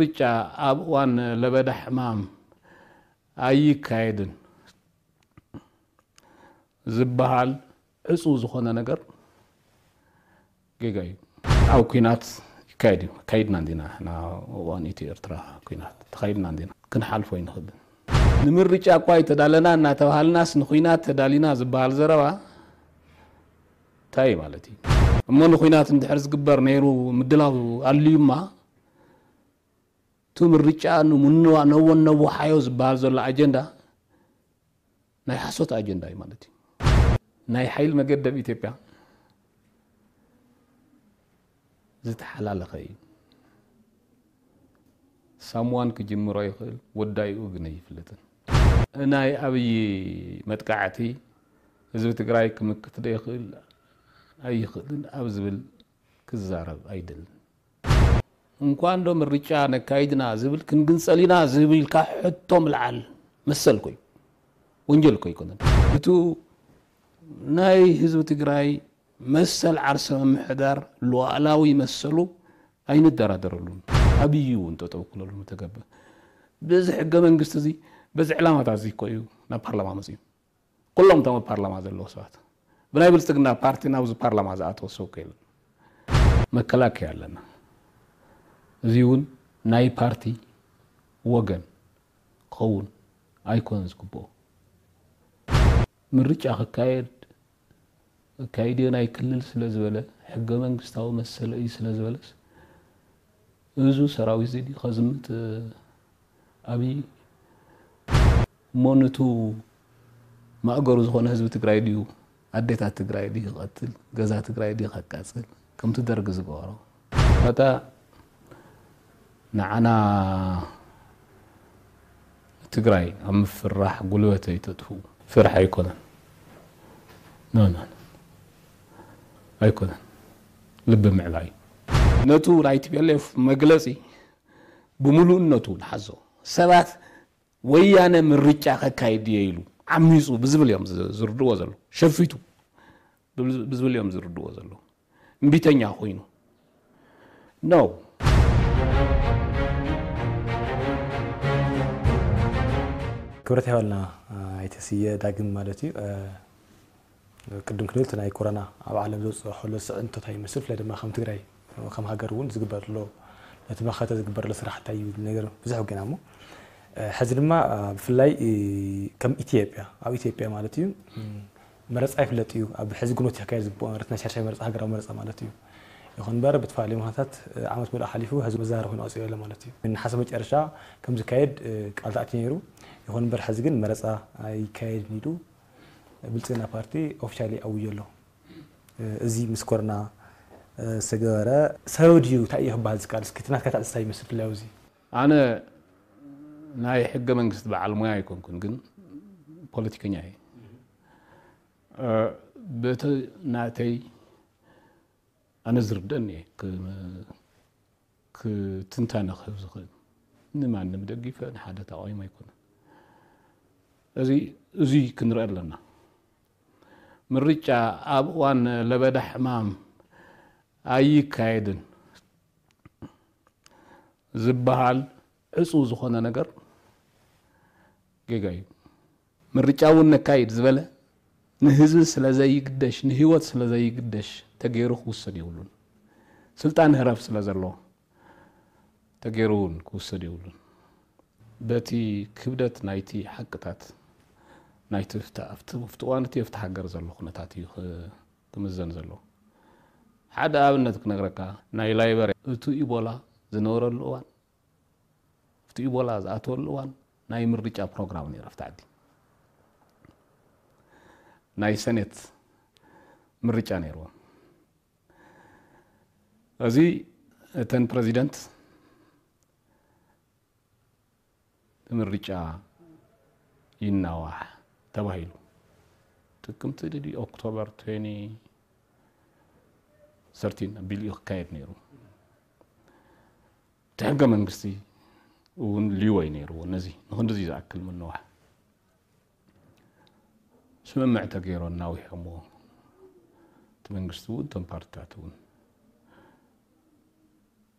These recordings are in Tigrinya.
ምርጫ ኣብ እዋን ለበዳ ሕማም ኣይካየድን ዝበሃል ዕጹው ዝኾነ ነገር ጌጋ እዩ። ኣብ ኲናት ይካየድ እዩ። ካይድና እንዲና፣ ንሕና እዋን ኢትዮ ኤርትራ ኲናት ተኻይድና እንዲና፣ ክንሓልፎ ኣይንኽእልን። ንምርጫ እኳ ኣይተዳለና እናተባሃልናስ ንኹናት ተዳሊና ዝበሃል ዘረባ እንታይ ማለት እዩ? እሞ ንኹናት እንድሕር ዝግበር ነይሩ ምድላው ኣልዩማ፣ እቲ ምርጫ ንምንዋ ነዎ ነዎ ሓዮ ዝበሃል ዘሎ ኣጀንዳ ናይ ሓሶት ኣጀንዳ እዩ ማለት እዩ። ናይ ሓይል መገደብ ኢትዮጵያ ዝተሓላለኸ እዩ። ሳምዋን ክጅምሮ ይኽእል፣ ወዳይኡ ግን ኣይፍለጥን። ናይ ኣብይ መጥቃዕቲ ህዝቢ ትግራይ ክምክት ዶ ይኽእል ኣይኽእልን ኣብ ዝብል ክዛረብ ኣይደልን። እንኳን ዶ ምርጫ ነካይድና ዝብል ክንግንጸል ኢና ዝብል ኢልካ ሕቶ ምልዓል መሰል ኮዩ ወንጀል ኮ ኣይኮነን። እቱ ናይ ህዝቢ ትግራይ መሰል ዓርሰ ምምሕዳር ሉዓላዊ መሰሉ ኣይንደራደረሉን። ኣብዩ እውን ጠጠው ክለሉ ምተገበ። በዚ ሕገ መንግስቲ እዚ በዚ ዕላማታት እዚ ኮ እዩ ናብ ፓርላማ መፅዩ። ኩሎም እቶም ኣብ ፓርላማ ዘለዉ ሰባት ብናይ ብልፅግና ፓርቲ ናብዚ ፓርላማ ዝኣተወ ሰብ ኮ የለን። መከላከያ ኣለና። እዚ እውን ናይ ፓርቲ ወገን ክኸውን ኣይኮነን ዝግብኦ። ምርጫ ክካየድ ክካየድ እዮ ናይ ክልል ስለ ዝበለ ሕገ መንግስታዊ መሰለ እዩ ስለ ዝበለስ እዙ ሰራዊት እዚ ድዩ ከዝምት ኣብይ እሞ ንቱ ማእገሩ ዝኾነ ህዝቢ ትግራይ ድዩ ኣዴታት ትግራይ ድዩ ክቐትል ገዛ ትግራይ ድዩ ከቃፅል ከምቲ ደርጊ ዝገበሮ እታ ንዓና ትግራይ ኣብ ምፍራሕ ጉልበት ኣይተጥፍኡ። ፍርሒ ኣይኮነን። ኖ፣ ኖ፣ ኖ። ኣይኮነን። ልቢ ምዕባይ። ነቱ ናይ ቲ ፒ ኤል ኤፍ መግለጺ ብምሉእነቱ ንሓዞ። ሰባት ወያነ ምርጫ ከካይድ እየ ኢሉ ዓሚጹ ብዝብል እዮም ዝ-፣ ዝርድዎ ዘለዉ። ሸፊቱ ብዝ-፣ ብዝብል እዮም ዝርድዎ ዘለዉ። እምቢተኛ ኮይኑ። ኖ። ክብረት ይሃበልና፣ ኣይተ ስየ ዳግም ማለት እዩ። ቅድም ክንብል እቲ ናይ ኮሮና ኣብ ዓለም ዘውፅኦ ከሎ ስዕንቶት ይመስል፣ ብፍላይ ድማ ከም ትግራይ ከም ሃገር እውን ዝግበር ዘሎ፣ ነቲ መኸተ ዝግበር ዘሎ ስራሕ እንታይ እዩ ዝብል ነገር ብዙሕ ወጊና እሞ፣ ሕዚ ድማ ብፍላይ ከም ኢትዮጵያ፣ ኣብ ኢትዮጵያ ማለት እዩ፣ መረፃ ይፍለጥ እዩ። ኣብ ሕዚ ግንቦት ይካየድ ዝግብኦ ማለት ናይ ሻድሻይ መረፃ፣ ሃገራዊ መረፃ ማለት እዩ። ይኹን እምበር ብዝተፈላለዩ ምኽንያታት ዓመት ሙሉእ ሓሊፉ ህዝቢ መዘራረቢ ኮይኑ ቀፂሉ ኣሎ ማለት እዩ። ነሓሰ መጨረሻ ከም ዝካየድ ቃል ተኣትዩ ነይሩ። ይኹን እምበር ሕዚ ግን መረፃ ኣይካየድን ኢሉ ብልፅግና ፓርቲ ኦፊሻሊ ኣውጆ ኣሎ። እዚ ምስ ኮሮና ዝተገበረ ሰበብ ድዩ? እንታይ እዩ ክበሃል ዝከኣል? እስኪ እቲ ናትካ ኣተሓሳስባ ይመስል ፍላይ ኣብዚ። ኣነ ናይ ሕገ መንግስቲ በዓል ሞያ ኣይኮንኩን፣ ግን ፖለቲከኛ እየ። እ፣ በቲ ናተይ ኣነ ዝርደአኒ እየ ክ-፣ ክትንታነ ክህብ ዝኽእል። ንማንም ደጊፈ ንሓደ ተቃዊሞ ኣይኮነን። እዚ፣ እዚ ክንርኢ ኣለና። ምርጫ ኣብ እዋን ለበዳ ሕማም ኣይካየድን ዝበሃል ዕጹው ዝኾነ ነገር ጌጋ እዩ። ምርጫ እውን ነካይድ ዝበለ ንህዝቢ ስለ ዘይግደሽ፣ ንህይወት ስለ ዘይግደሽ ተገይሩ ክውሰድ የብሉን። ስልጣን ህረፍ ስለ ዘሎ ተገይሩ እውን ክውሰድ የብሉን። በቲ ክብደት ናይቲ ሓቅታት ናይቲ ፍታ-፣ ኣብቲ፣ ኣብቲ እዋን እቲ ኣብቲ ሃገር ዘሎ ኩነታት እዩ ክ-፣ ክምዘን ዘሎ። ሓደ ኣብነት ክነግረካ፣ ናይ ላይበርያ፣ እቱ ኢቦላ ዝነበረሉ እዋን፣ እቲ ኢቦላ ዝኣተወሉ እዋን ናይ ምርጫ ፕሮግራም ነይሩ ኣብቲ ዓዲ። ናይ ሰኔት ምርጫ ነይርዎም። እዚ እተን ፕረዚደንት ምርጫ ይናዋሕ ተባሂሉ። ጥቅምቲ ድዩ ኦክቶበር ትዌንቲ ሰርቲን ኣቢሉ እዩ ክካየድ ነይሩ። እቲ ሕገ መንግስቲ እውን ሊወይ ነይርዎ። ነዚ ንክንድዚ ዝኣክል ምንዋሕ ስምምዕ ተገይሩ እናዊሖምዎ። እቲ መንግስቲ እውን እቶም ፓርትታት እውን።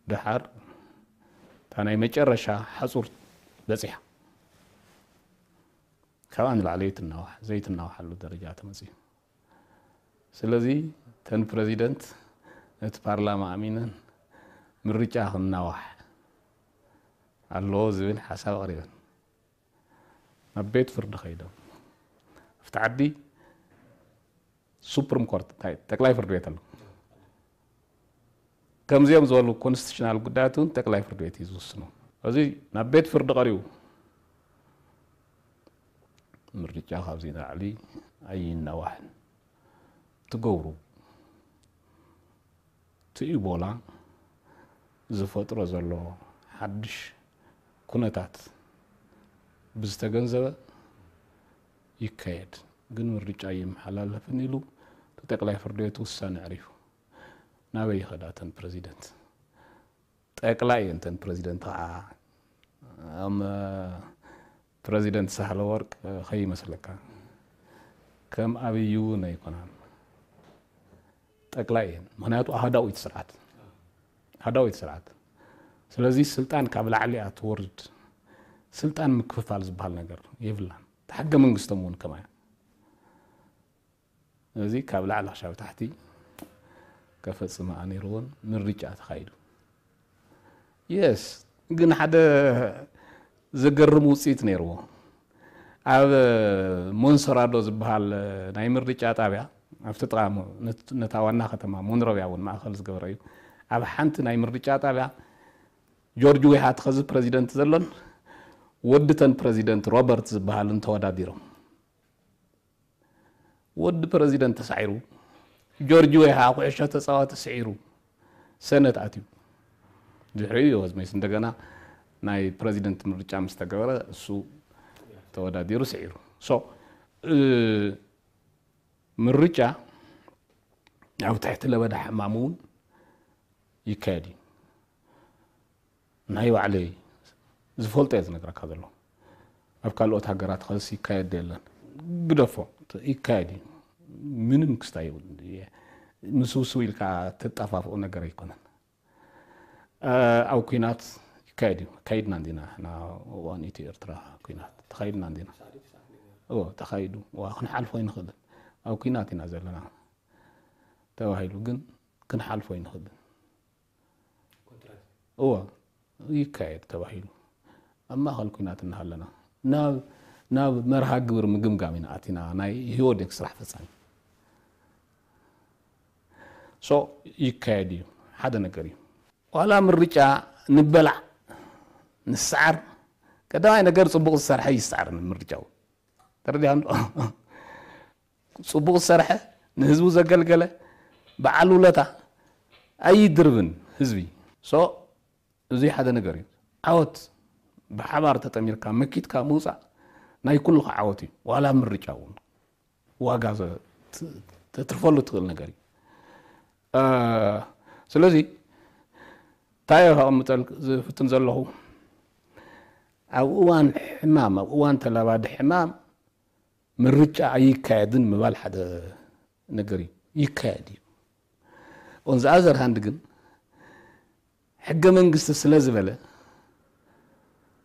ደሓር እታ ናይ መጨረሻ ሓጹር በጺሓ። ካብኣ ንላዕሊ ይትናዋሕ ዘይትናዋሓሉ ደረጃ ተመጽዩ። ስለዚ ተን ፕረዚደንት ነቲ ፓርላማ ኣሚነን ምርጫ ክናዋሕ ኣለዎ ዝብል ሓሳብ ኣቕሪበን ናብ ቤት ፍርዲ ከይዶም ኣብቲ ዓዲ ሱፕሪም ኮርት እንታይ ጠቅላይ ፍርድ ቤት ኣሎ። ከምዚኦም ዝበሉ ኮንስቲቱሽናል ጉዳያት እውን ጠቅላይ ፍርድ ቤት እዩ ዝውስኖ። እዚ ናብ ቤት ፍርዲ ቀሪቡ ምርጫ ካብዚ ንላዕሊ ኣይናዋሕን ትገብሩ እቲ ኢቦላ ዝፈጥሮ ዘሎ ሓድሽ ኩነታት ብዝተገንዘበ ይካየድ። ግን ምርጫ ይመሓላለፍን ኢሉ እቲ ጠቅላይ ፍርድ ቤት ውሳነ ኣዕሪፉ ናበይ ይኸዳ እተን ፕረዚደንት? ጠቅላይ እየን እተን ፕረዚደንት ከዓ ኣም ፕረዚደንት ሳህለ ወርቅ ከይመስለካ ከም ኣብይ እውን ኣይኮናን። ጠቅላይ እየን ምክንያቱ ኣህዳዊት ስርዓት ኣህዳዊት ስርዓት። ስለዚ ስልጣን ካብ ላዕሊ እያ ትወርድ። ስልጣን ምክፍፋል ዝበሃል ነገር የብላን። ሕገ መንግስቶም እውን ከማያ እዚ ካብ ላዕሊ ክሻብ ታሕቲ ከፈጽማ ነይርዎን ምርጫ ተኻይዱ። የስ ግን ሓደ ዘገርም ውፅኢት ነይርዎ። ኣብ ሞንሰራዶ ዝበሃል ናይ ምርጫ ጣብያ ኣብቲ ጥቓ ነታ ዋና ከተማ ሞንሮቪያ እውን ማእኸል ዝገበረ እዩ። ኣብ ሓንቲ ናይ ምርጫ ጣብያ ጆርጅ ዌሃ ተኸዚ ፕረዚደንት ዘሎን ወዲ ተን ፕረዚደንት ሮበርት ዝበሃልን ተወዳዲሮም። ወዲ ፕረዚደንት ተሳዒሩ፣ ጆርጅ ዌሃ ኩዕሾ ተፃዋቲ ስዒሩ ሰነት ኣትዩ። ድሕሪኡ እዩ ሆዝሜስ እንደገና ናይ ፕረዚደንት ምርጫ ምስ ተገበረ እሱ ተወዳዲሩ ስዒሩ። ሶ ምርጫ ኣብ ትሕቲ ለበዳ ሕማም እውን ይካየድ እዩ። ናይ ባዕለይ ዝፈልጦ እየ ዝነግረካ ዘሎ። ኣብ ካልኦት ሃገራት ኸስ ይካየድ የለን። ግደፎ ይካየድ እዩ። ምንም ክስታይ ምስውስው ኢልካ ተጣፋፍኦ ነገር ኣይኮነን። ኣብ ኩናት ይካየድ እዩ። ካይድና እንዲና ና እዋን ኢትዮ ኤርትራ ኩናት ተኻይድና እንዲና ተኻይዱ ዋ ክንሓልፎ ይንኽእልን ኣብ ኩናት ኢና ዘለና ተባሂሉ ግን ክንሓልፎ ይንኽእልን እዎ ይካየድ ተባሂሉ ኣብ ማእኸል ኩናት እናሃለና ናብ ናብ መርሃ ግብር ምግምጋም ኢና ኣቲና ናይ ህወደግ ስራሕ ፈፃሚ ሶ ይካየድ እዩ ሓደ ነገር እዩ ዋላ ምርጫ ንበላዕ ንስዓር ቀዳማይ ነገር ፅቡቕ ዝሰርሐ ይስዓር ምርጫው ተረዲኻ ጽቡቕ ዝሰርሐ ንህዝቡ ዘገልገለ በዓል ውለታ ኣይድርብን ህዝቢ so እዚ ሓደ ነገር እዩ ዓወት ብሓባር ተጠሚርካ መኪትካ ምውፃእ ናይ ኩልኻ ዓወት እዩ ዋላ ምርጫ እውን ዋጋ ተትርፈሉ ትኽእል ነገር እዩ ስለዚ እንታይ ከቐምጠል ዝፍትን ዘለኹ ኣብ እዋን ሕማም ኣብ እዋን ተላባዲ ሕማም ምርጫ ኣይካየድን ምባል ሓደ ነገር እዩ ይካየድ እዩ on the other hand ግን ሕገ መንግስቲ ስለ ዝበለ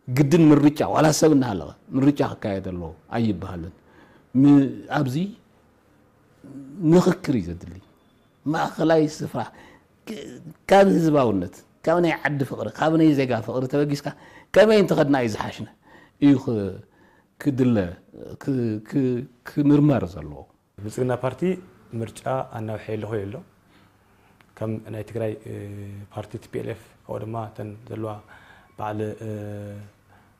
ግድን ምርጫ ዋላ ሰብ እናሃለወ ምርጫ ክካየድ ኣለዎ ኣይበሃልን ኣብዚ ምኽክር እዩ ዘድሊ ማእኸላይ ስፍራ ካብ ህዝባውነት ካብ ናይ ዓዲ ፍቕሪ ካብ ናይ ዜጋ ፍቕሪ ተበጊስካ ከመይ እንተኸድና እዩ ዝሓሽነ እዩ ክድለ ክምርመር ዘለዎ። ብልፅግና ፓርቲ ምርጫ ኣናውሐ የለኹ ኢሉ ኣሎ። ከም ናይ ትግራይ ፓርቲ ቲ ፒ ኤል ኤፍ ካብኡ ድማ እተን ዘለዋ በዓል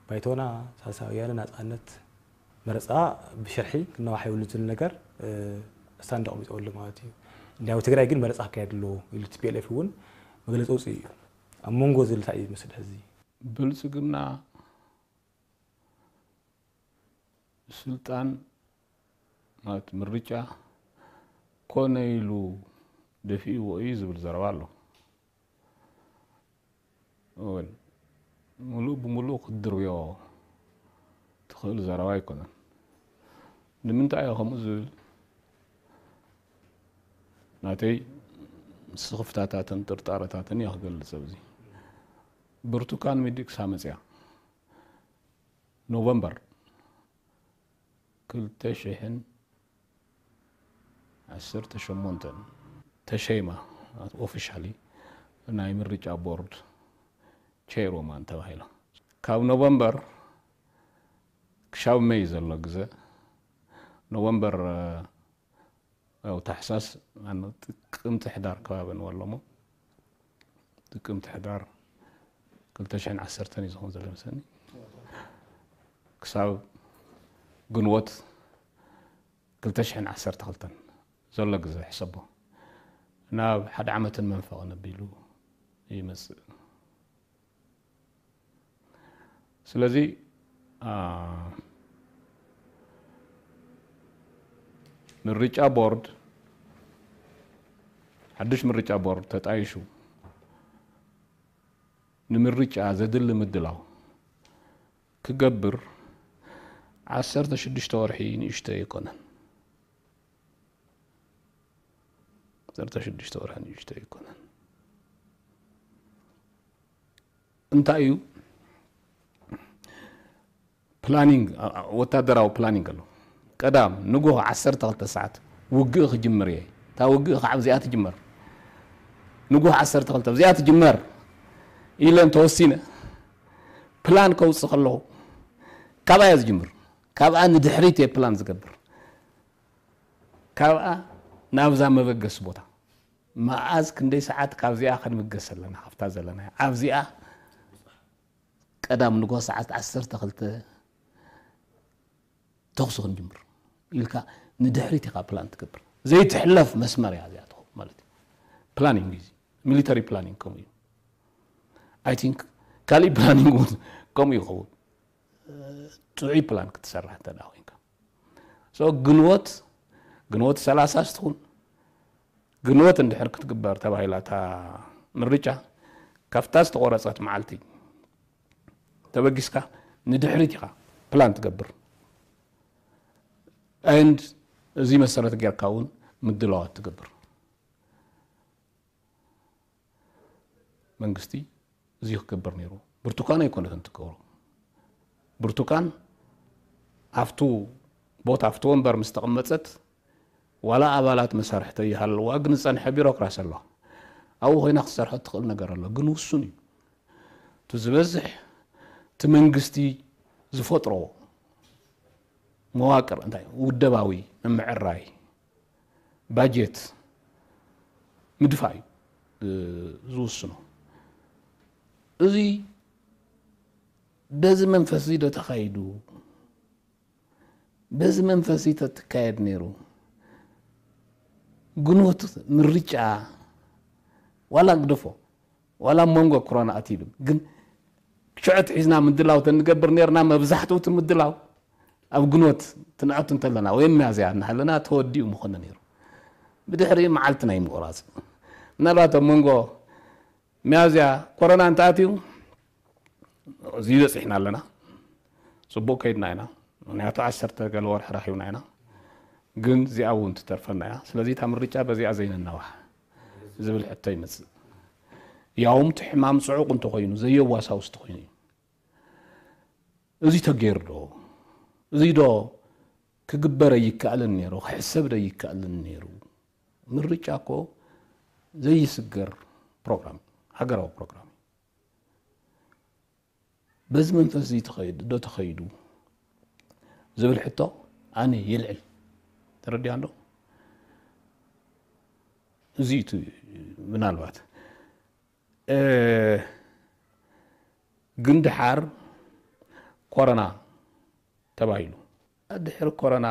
ባይቶና፣ ሳልሳይ ወያነ፣ ናፃነት መረፃ ብሽርሒ ክናዋሕ የብሉን ዝብል ነገር ስታንድ ኣቕሚጡ ኣሎ ማለት እዩ። እንዲያው ትግራይ ግን መረፃ ክካየድ ኣለዎ ኢሉ ቲ ፒ ኤል ኤፍ እውን መግለፂ ኣውፂኡ እዩ። ኣብ መንጎ ዝብል እንታይ እዩ ዝመስል ሕዚ? ብልፅግና ስልጣን ማለት ምርጫ ኮነ ኢሉ ደፊእዎ እዩ ዝብል ዘረባ ኣሎ። እወን፣ ምሉእ ብምሉእ ክትድርብዮ ትኽእል ዘረባ ኣይኮነን። ንምንታይ እየ ከምኡ ዝብል? ናተይ ስኽፍታታትን ጥርጣረታትን እየ ክገልጽ ኣብዚ። ብርቱካን ሚደቅሳ መፅያ ኖቨምበር ክልተ ሽሕን ዓሰርተ ሸሞንተን ተሸይማ፣ ኦፊሻሊ ናይ ምርጫ ቦርድ ቸይርውማን ተባሂላ። ካብ ኖቨምበር ክሻብ መይ ዘሎ ግዘ፣ ኖቨምበር፣ ያው ታሕሳስ፣ ማነው፣ ጥቅምቲ ሕዳር ከባቢ ንበሎሞ፣ ጥቅምቲ ሕዳር ክልተ ሽሕን ዓሰርተን እዩ ዝኸውን ዘሎ መስለኒ። ክሳብ ግንቦት ክልተ ሽሕን ዓሰርተ ክልተን ዘሎ ግዘ ሕሰቦ፣ ናብ ሓደ ዓመትን መንፈቕን ኣቢሉ ይመፅእ። ስለዚ፣ አ፣ ምርጫ ቦርድ፣ ሓድሽ ምርጫ ቦርድ ተጣይሹ ንምርጫ ዘድሊ ምድላው ክገብር፣ ዓሰርተ ሽዱሽተ ወርሒ ንእሽቶ ኣይኮነን። ዓሰርተ ሽዱሽተ ወርሒ ንእሽቶ ኣይኮነን። እንታይ እዩ? ፕላኒንግ፣ አ-፣ አ-፣ ወታደራዊ ፕላኒንግ ኣሎ። ቀዳም ንጉሆ ዓሰርተ ክልተ ሰዓት ውግእ ክጅምር እየ። እታ ውግእ ካብ እዚኣ ትጅመር። ንጉሆ ዓሰርተ ክልተ ኣብዚኣ ትጅመር ኢለ እንተወሲነ፣ ፕላን ከውፅእ ከለኹ፣ ካብኣ እየ ዝጅምር። ካብኣ ንድሕሪት እየ ፕላን ዝገብር። ካብኣ ናብዛ መበገሲ ቦታ፣ መኣዝ ክንደይ ሰዓት ካብዚኣ ክንብገስ ኣለና፣ ካብታ ዘለና ኣብዚኣ ቀዳም ንጎ ሰዓት ዓሰርተ ክልተ ተኹሲ ክንጅምር ኢልካ ንድሕሪት ኢኻ ፕላን ትገብር። ዘይትሕለፍ መስመር እያ እዚኣ ትኸውን ማለት እዩ። ፕላኒንግ እዩ፣ ሚሊተሪ ፕላኒንግ ከምኡ እዩ። ኣይ ቲንክ ካሊእ ፕላኒንግ እውን ከምኡ ይኸውን። ጥዑይ ፕላን ክትሰርሕ እንተ ደኣ ኮይንካ። ሶ ግንቦት፣ ግንቦት ሰላሳ ስትኹን፣ ግንቦት እንድሕር ክትግበር ተባሂላ እታ ምርጫ፣ ካብታ ዝተቆረጸት መዓልቲ ተበጊስካ ንድሕሪት ኢኻ ፕላን ትገብር። And እዚ መሰረት ጌርካ እውን ምድላዋት ትገብር። መንግስቲ እዚ ክገብር ነይሩ። ብርቱካን ኣይኮነትን ትገብሮ። ብርቱካን ኣብቱ ቦታ፣ ኣብቲ ወንበር ምስ ተቐመጸት፣ ዋላ ኣባላት መሳርሕተይ ይሃልዋ፣ ግን ዝጸንሐ ቢሮክራሲ ኣሎ። ኣብኡ ኮይና ክትሰርሖ ትኽእል ነገር ኣሎ፣ ግን ውሱን እዩ። እቲ ዝበዝሕ እቲ መንግስቲ ዝፈጥሮ መዋቅር እንታይ እዩ? ውደባዊ ምምዕራይ፣ ባጀት ምድፋእ እዩ፣ እ፣ ዝውስኖ። እዚ በዚ መንፈስ እዚ ዶ ተኻይዱ? በዚ መንፈስ እዚ ተትካየድ ነይሩ፣ ግንቦት ምርጫ ዋላ ግደፎ፣ ዋላ ኣብ መንጎ ኮሮና ኣትይሉ፣ ግን ሽዑ ኣትሒዝና ምድላው ተንገብር ነርና። መብዛሕትኡ እቲ ምድላው ኣብ ግንቦት ትንኣቱ እንተለና ወይ ሚያዝያ እናሃለና ተወዲኡ ምኾነ ነይሩ። ብድሕሪ መዓልቲ ናይ ምቑራፅ፣ ምናልባት ኣብ መንጎ ሚያዝያ ኮሮና እንተኣትዩ፣ እዚ በፂሕና ኣለና። ፅቡቅ ከይድና ኢና። ምክንያቱ ዓሰርተ ገለ ወርሒ ረኺብና ኢና። ግን እዚኣ እውን ትተርፈና እያ። ስለዚ እታ ምርጫ በዚኣ ዘይነናዋሕ ዝብል ሕቶ ይመፅእ። ያውም እቲ ሕማም ፅዑቅ እንተኮይኑ፣ ዘየዋሳውስ እንተኮይኑ እዩ። እዚ ተገይሩ ዶ? እዚ ዶ ክግበር ኣይከኣልን ነይሩ? ክሕሰብ ዶ ኣይከኣልን ነይሩ? ምርጫ እኮ ዘይስገር ፕሮግራም፣ ሃገራዊ ፕሮግራም እዩ። በዚ መንፈስ እዚ ተኸይዱ፣ ዶ ተኸይዱ ዝብል ሕቶ ኣነ የልዕል። ተረዲኣን ዶ? እዚ እቲ ምናልባት፣ እ፣ ግን ደሓር ኮረና ተባሂሉ። ድሕሪ ኮረና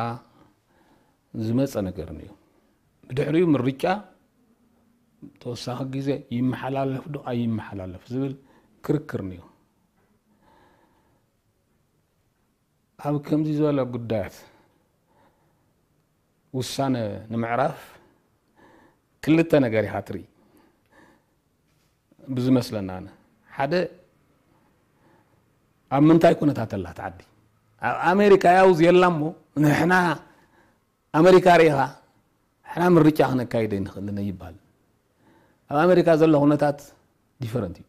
ዝመፀ ነገር እዩ። ብድሕሪኡ ምርጫ ተወሳኺ ግዜ ይመሓላለፍ ዶ ኣይመሓላለፍ ዝብል ክርክር እዩ። ኣብ ከምዚ ዝበለ ጉዳያት ውሳነ ንምዕራፍ ክልተ ነገር ኢኻ ትርኢ። ብዝመስለና ኣነ፣ ሓደ፣ ኣብ ምንታይ ኩነታት ኣላ እታ ዓዲ? ኣብ ኣሜሪካ ያውዝ የላ እሞ፣ ንሕና ኣሜሪካ ርኢኻ፣ ንሕና ምርጫ ክነካይድ ኣይንኽእልን ይባል። ኣብ ኣሜሪካ ዘሎ ኩነታት ዲፈረንት እዩ።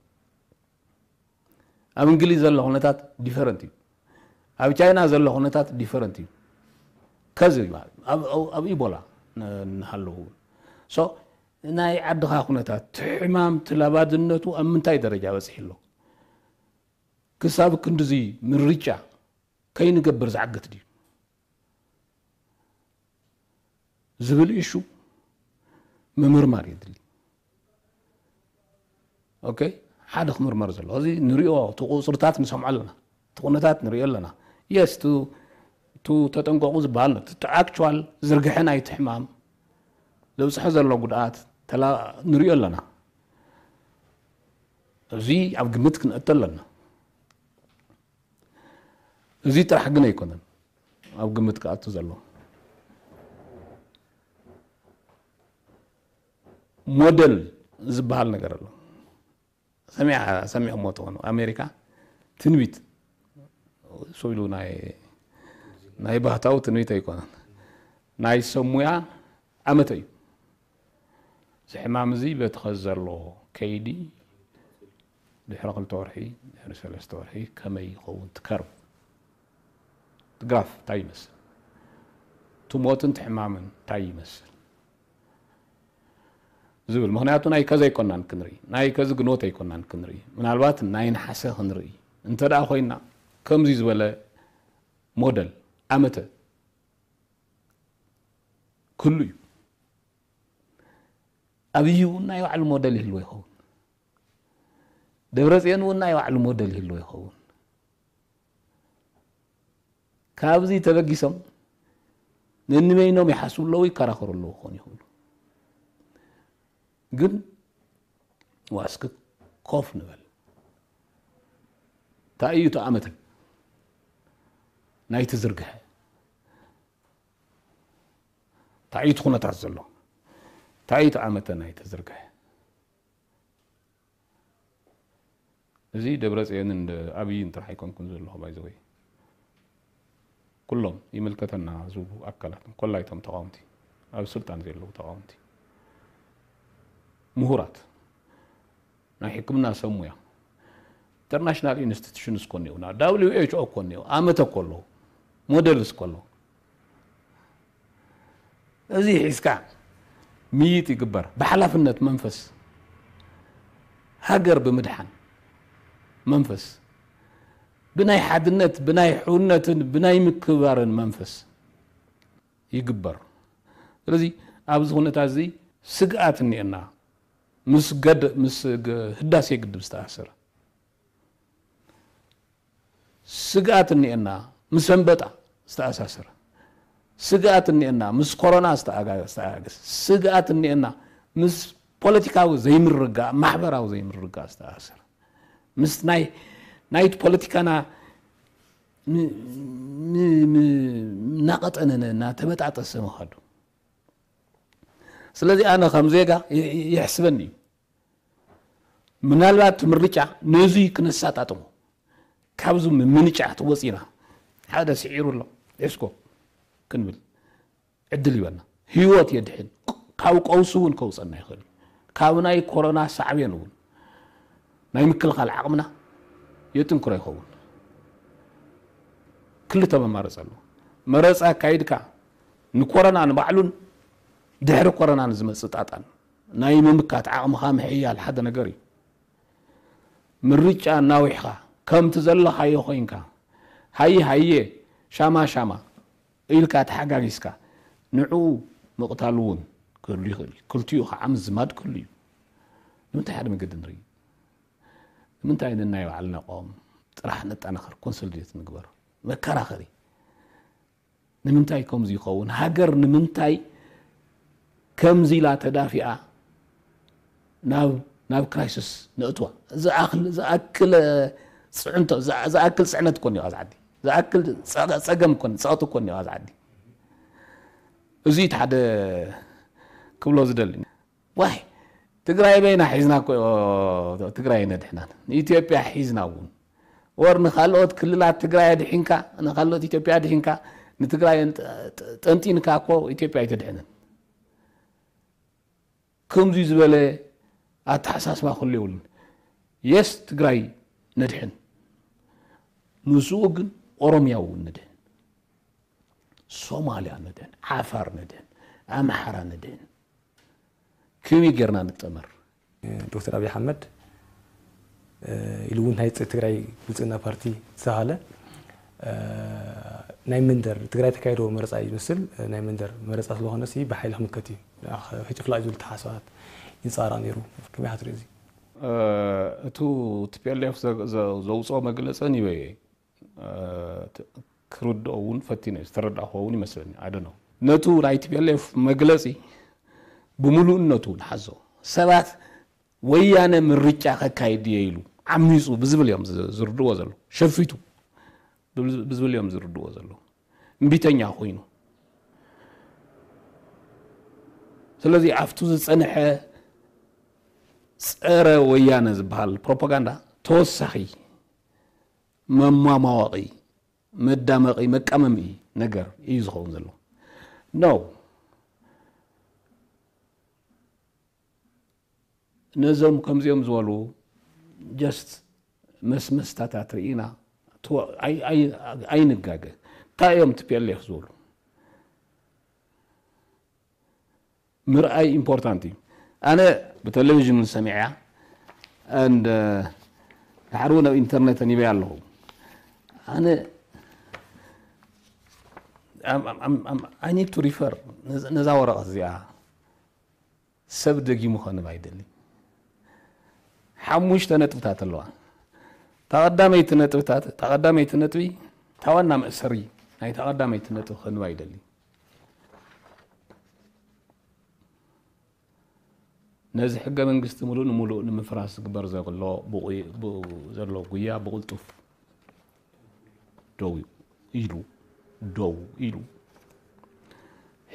ኣብ እንግሊዝ ዘሎ ኩነታት ዲፈረንት እዩ። ኣብ ቻይና ዘሎ ኩነታት ዲፈረንት እዩ። ከዚ ይበሃል ኣብ ኢቦላ ንሃለዉ። ናይ ዓድኻ ኩነታት፣ ሕማም፣ ትላባድነቱ ኣብ ምንታይ ደረጃ በፂሒ ኣሎ? ክሳብ ክንድዚ ምርጫ ከይንገብር ዝዓግት ድዩ ዝብል እሹ ምምርማር የድሊ። ኦኬ፣ ሓደ ክምርመር ዘለዎ እዚ ንሪኦ፣ እቲ ቁፅርታት ንሰምዖ ኣለና፣ እቲ ኩነታት ንሪኦ ኣለና። የስ ቱ ተጠንቀቁ ዝበሃል እቲ ኣክቹዋል ዝርግሐ ናይቲ ሕማም ዘብፅሖ ዘሎ ጉድኣት ንሪኦ ኣለና። እዚ ኣብ ግምት ክንእቶ ኣለና። እዚ ጥራሕ ግን ኣይኮነን ኣብ ግምት ክኣቱ ዘሎ። ሞደል ዝበሃል ነገር ኣሎ። ሰሚዕሞ ትኾኑ ኣሜሪካ ትንቢት እሱ ኢሉ ናይ ባህታዊ ትንቢት ኣይኮነን፣ ናይ ሰሙያ ዓመተ እዩ። እዚ ሕማም እዚ በቲ ኸዚ ዘሎ ከይዲ ድሕሪ ክልተ ወርሒ ድሕሪ ሰለስተ ወርሒ ከመይ ይኸውን ትከርብ ትግራፍ እንታይ ይመስል ትሞትን ትሕማምን እንታይ ይመስል ዝብል። ምክንያቱ ናይ ከዚ ኣይኮናን ክንርኢ፣ ናይ ከዚ ግንቦት ኣይኮናን ክንርኢ፣ ምናልባት ናይ ነሓሰ ክንርኢ እንተ ደኣ ኮይና ከምዚ ዝበለ ሞደል ዓመተ ክህሉ እዩ። ኣብይ እውን ናይ ባዕሉ ሞደል ይህልዎ ይኸውን። ደብረፅዮን እውን ናይ ባዕሉ ሞደል ይህልዎ ይኸውን። ካብዚ ተበጊሶም ነንበይኖም ይሓስቡ ኣለዉ፣ ይከራኸሩ ኣለዉ ክኾኑ ይኽእሉ። ግን ዋስክ ኮፍ ንበል። እንታይ እዩ እቲ ኣመተ ናይቲ ዝርግሐ? እንታይ እዩ እቲ ኩነታት ዘሎ? እንታይ እዩ እቲ ኣመተ ናይቲ ዝርግሐ? እዚ ደብረፅዮንን ኣብይን ጥራሕ ኣይኮንኩን ዘለኹ ባይዘወይ ኩሎም ይምልከተና ዝብሉ ኣካላት ኮላይቶም ተቃወምቲ ኣብ ስልጣን ዘለዉ ተቃወምቲ ምሁራት ናይ ሕክምና ሰብ ሙያ ኢንተርናሽናል ኢንስቲቱሽንስ ኮ እኒኦ ና ደብሊው ኤች ኦ ኮ እኒኦ ኣመተ ኮ ኣለዉ ሞዴልስ ኮ ኣለዉ እዚ ሒዝካ ምይጥ ይግበር ብሓላፍነት መንፈስ ሃገር ብምድሓን መንፈስ ብናይ ሓድነት ብናይ ሕውነትን ብናይ ምክብባርን መንፈስ ይግበር። ስለዚ ኣብዚ ኩነታት እዚ ስግኣት እኒኤና ምስ ገድ ምስ ህዳሴ ግድብ ዝተኣሰረ ስግኣት እኒኤና ምስ ኣንበጣ ዝተኣሳሰረ ስግኣት እኒኤና ምስ ኮሮና ዝተኣጋገስ ስግኣት እኒኤና ምስ ፖለቲካዊ ዘይምርጋእ ማሕበራዊ ዘይምርጋእ ዝተኣሳሰረ ምስ ናይ ናይቲ ፖለቲካና እናቐጠነ እናተበጣጠሰ ምኻዱ ስለዚ ኣነ ከም ዜጋ ይሕስበኒ እዩ ምናልባት እቲ ምርጫ ነዙይ ክነሳጣጥሞ ካብዚ ምምንጫ ትወፂና ሓደ ስዒሩ ኣሎ ሒዝኮ ክንብል ዕድል ይበና ህይወት የድሕን ካብ ቀውሲ እውን ከውፀና ይኽእል ካብ ናይ ኮሮና ሳዕቤን እውን ናይ ምክልኻል ዓቕምና የጥንክሮ ይኸውን ክልተ መማረፂ ኣሎ መረፂ ኣካይድካ ንኮረና ንባዕሉን ድሕሪ ኮረና ንዝመፅእ ጣጣን ናይ ምምካት ዓቕምኻ ምሕያል ሓደ ነገር እዩ ምርጫ እናዊሕኻ ከምቲ ዘለኻዮ ኮይንካ ሃየ ሃየ ሻማ ሻማ ኢልካ ተሓጋጊዝካ ንዕኡ ምቕታል እውን ክህሉ ይኽእል እዩ ክልቲኡ ከዓ ምዝማድ ክህሉ እዩ ንምንታይ ሓደ መገዲ ንርኢ ንምንታይ ንናይ ባዕልና ቆም ጥራሕ ነጠናኸር ኮንሶሊዴት ንግበር መከራኸሪ ንምንታይ ከምዚ ይኸውን ሃገር ንምንታይ ከምዚ ኢላ ተዳፊኣ ናብ ናብ ክራይሲስ ነእትዋ ዝኣክል ዝኣክል ፅዕንቶ ዝኣክል ፅዕነት ኮን እዩ ዓዲ ዝኣክል ፀገም ኮን ፀቕጢ ኮን እዩ ዓዲ እዚ እቲ ሓደ ክብሎ ዝደሊ ዋይ ትግራይ በይና ሒዝና እኮ ትግራይ ነድሕናን ንኢትዮጵያ ሒዝና እውን ወር ንካልኦት ክልላት ትግራይ ኣድሒንካ ንካልኦት ኢትዮጵያ ኣድሒንካ ንትግራይ ጠንጢንካ እኮ ኢትዮጵያ ኣይተድሕንን። ከምዚ ዝበለ ኣተሓሳስባ ክህሉ የብሉን። የስ ትግራይ ነድሕን ምስኡ ግን ኦሮምያ እውን ንድህን፣ ሶማልያ ንድህን፣ ዓፋር ንድህን፣ ኣምሓራ ንድህን። ከመይ ጌርና ንጠመር? ዶክተር ኣብይ ኣሕመድ ኢሉ እውን ናይ ትግራይ ብልፅግና ፓርቲ ዝተባሃለ ናይ መንደር ትግራይ ተካይዶ መረፃ እዩ ዝመስል። ናይ መንደር መረፃ ስለኾነ ሲ ብሓይሊ ክምከት እዩ ሕጭፍላ እዩ ዝብል ተሓሳባት ይንፃራ ነይሩ። ከመይ ክትርኢ እዚ? እቱ ቲ ፒ ኤል ኤፍ ዘውፅኦ መግለፂ ኒበየ ክርድኦ እውን ፈቲነ ዝተረዳእኹ እውን ይመስለኒ። ኣደነው ነቱ ናይ ቲ ፒ ኤል ኤፍ መግለፂ ብምሉእነቱ ንሓዞ ሰባት ወያነ ምርጫ ከካይድ እየ ኢሉ ዓሚፁ ብዝብል እዮም ዝርድዎ ዘሎ። ሸፊቱ ብዝብል እዮም ዝርድዎ ዘሎ። እምቢተኛ ኮይኑ። ስለዚ ኣብቱ ዝፀንሐ ፀረ ወያነ ዝበሃል ፕሮፓጋንዳ ተወሳኺ መማማወቒ፣ መዳመቒ፣ መቃመሚ ነገር እዩ ዝኸውን ዘሎ። ኖ ነዞም ከምዚኦም ዝበሉ just መስመስታታት ርኢና ኣይንጋገ። እንታይ እዮም ቲ ፒ ኤል ኤፍ ዝበሉ ምርኣይ ኢምፖርታንት እዩ። ኣነ ብቴሌቪዥን እውን ሰሚዐያ and ድሓር እውን ኣብ ኢንተርኔት ኣኒበያ ኣለኹ። ኣነ I need to refer ነዛ ወረቐት እዚኣ ሰብ ደጊሙ ከንብ ኣይደሊ። ሓሙሽተ ነጥብታት ኣለዋ። ተቐዳመይቲ ነጥብታት ተቐዳመይቲ ነጥቢ ታዋና መእሰሪ ናይ ተቐዳመይቲ ነጥቢ ከንብ ኣይደሊ። ነዚ ሕገ መንግስቲ ሙሉእ ንሙሉእ ንምፍራስ ዝግበር ዘሎ ዘሎ ጉያ ብቕልጡፍ ደው ኢሉ ደው ኢሉ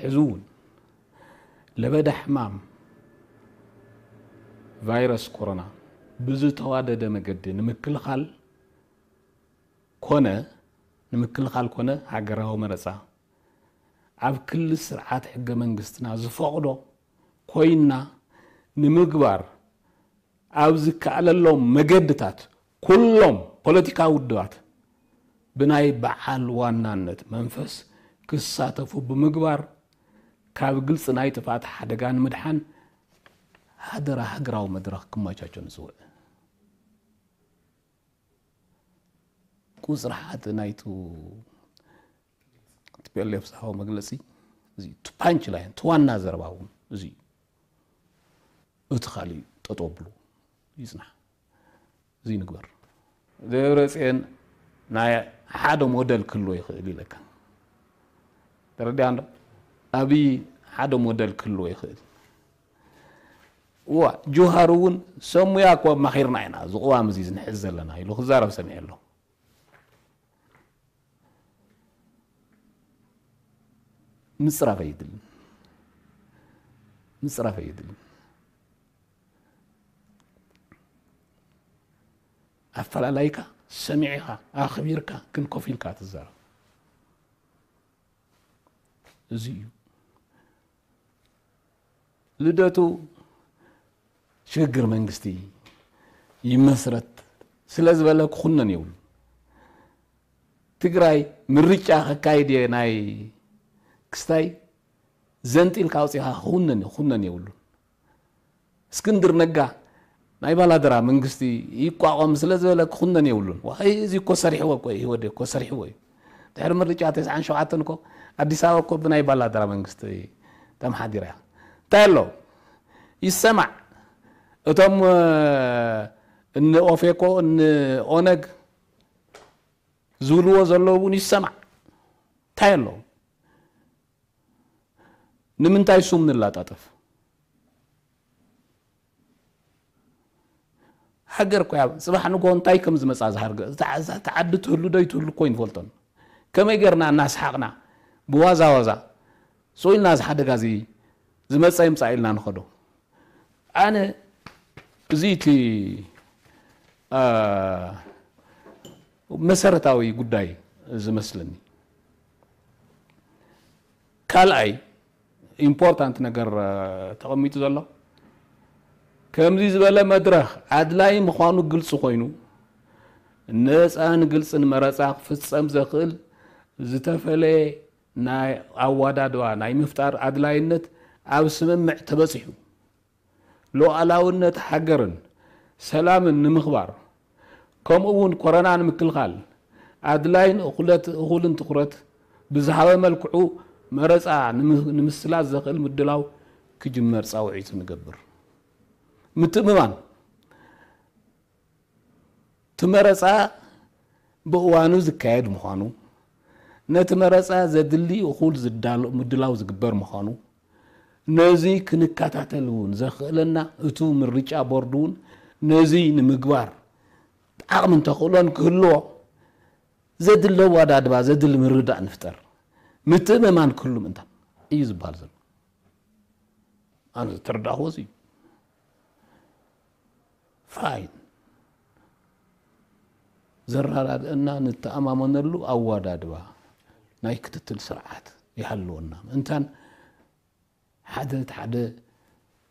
ሕዚ እውን ለበዳ ሕማም ቫይረስ ኮሮና ብዝተዋደደ መገዲ ንምክልኻል ኮነ ንምክልኻል ኮነ ሃገራዊ መረፃ ኣብ ክሊ ስርዓት ሕገ መንግስትና ዝፈቕዶ ኮይና ንምግባር ኣብ ዝከኣለሎም መገድታት ኩሎም ፖለቲካዊ ውድባት ብናይ በዓል ዋናነት መንፈስ ክሳተፉ ብምግባር ካብ ግልፂ ናይ ጥፍኣት ሓደጋ ንምድሓን ሃደራ ሃገራዊ መድረኽ ክመቻቸ ንፅውዕ። ቁፅሪ ሓደ ናይቱ ቲ ፒ ኤል ኤፍ ዝሃቦ መግለፂ እዚ ቱ ፓንች ላይን ቱ ዋና ዘረባ እውን እዚ እቲ ካሊእ ጠጠው ብሉ ይፅናሕ። እዚ ንግበር። ደብረፅዮን ናይ ሓደ ሞደል ክህልዎ ይኽእል ኢለካ። ተረዲኣ እንዶ ኣብይ ሓደ ሞደል ክህልዎ ይኽእል። እዋ ጆሃር እውን ሰሙያ እኮ ኣማኺርና ኢና እዚ ቅዋም እዚ ዝንሕዝ ዘለና ኢሉ ክዛረብ ሰሚዐ ኣለኹ። ምፅራፍ ኣይድልን ምፅራፍ ኣይድልን ኣፈላላይካ ሰሚዕኻ ኣኽቢርካ ግን ኮፍ ኢልካ ትዛረብ እዚ እዩ። ልደቱ ሽግግር መንግስቲ ይመስረት ስለ ዝበለ ክኹነን የብሉ። ትግራይ ምርጫ ከካይድ እየ ናይ ክስታይ ዘንጢልካ ኣውፂኻ ክኹነን ክኹነን የብሉን። እስክንድር ነጋ ናይ ባላደራ መንግስቲ ይቋቋም ስለ ዝበለ ክኹነን የብሉን። ዋይ እዚ እኮ ሰሪሕዎ እኮ እዩ ህወዴ እኮ ሰሪሕዎ እዩ። ድሕሪ ምርጫ ተስዓን ሸውዓተን እኮ ኣዲስ ኣበባ እኮ ብናይ ባላደራ መንግስቲ ተመሓዲራ እያ። እንታይ ኣሎ ይሰማዕ። እቶም እኒ ኦፌኮ እኒ ኦነግ ዝብልዎ ዘለዉ እውን ይሰማዕ። እንታይ ኣሎ ንምንታይ ሱም ንላጣጠፍ? ሃገር እኮ እያ ፅባሕ ንግሆ እንታይ ከም ዝመፃ ዝሃርገ እታ ዓዲ ትህሉ ዶ ይትህሉ እኮ ይንፈልጦን። ከመይ ገርና እናስሓቕና ብዋዛ ዋዛ ስቕ ኢልና እዚ ሓደጋ እዚ ዝመፀ ይምፃእ ኢልና ንኸዶ። ኣነ እዚ እቲ መሰረታዊ ጉዳይ ዝመስለኒ። ካልኣይ ኢምፖርታንት ነገር ተቐሚጡ ዘሎ ከምዚ ዝበለ መድረኽ ኣድላይ ምዃኑ ግልፂ ኮይኑ ነፃን ግልፅን መረፃ ክፍፀም ዘኽእል ዝተፈለየ ናይ ኣወዳድባ ናይ ምፍጣር ኣድላይነት ኣብ ስምምዕ ተበፂሑ። ሉዓላውነት ሃገርን ሰላምን ንምኽባር፣ ከምኡ እውን ኮረና ንምክልኻል ኣድላይን እኹለት-፣ እኹልን ትኹረት ብዝሃበ መልክዑ መረፃ ንምስላጥ ዘኽእል ምድላው ክጅመር ፃውዒት ንገብር። ምትእምማን፣ እቲ መረፃ ብእዋኑ ዝካየድ ምዃኑ፣ ነቲ መረፃ ዘድሊ እኹል ዝዳሎ-፣ ምድላው ዝግበር ምዃኑ፣ ነዚ ክንከታተል እውን ዘኽእለና እቱ ምርጫ ቦርድ እውን ነዚ ንምግባር ዓቕምን ተኽእሎን ክህልዎ ዘድሊ ኣወዳድባ፣ ዘድሊ ምርዳእ ንፍጠር። ምትእምማን ክህሉ ምእንታን እዩ ዝበሃል ዘሎ። ኣነ ዝተረዳእኽዎ እዚ እዩ። ፋይን። ዘረዳድአና፣ ንተኣማመነሉ ኣወዳድባ ናይ ክትትል ስርዓት ይሃልወና ምእንታን፣ ሓደ እቲ ሓደ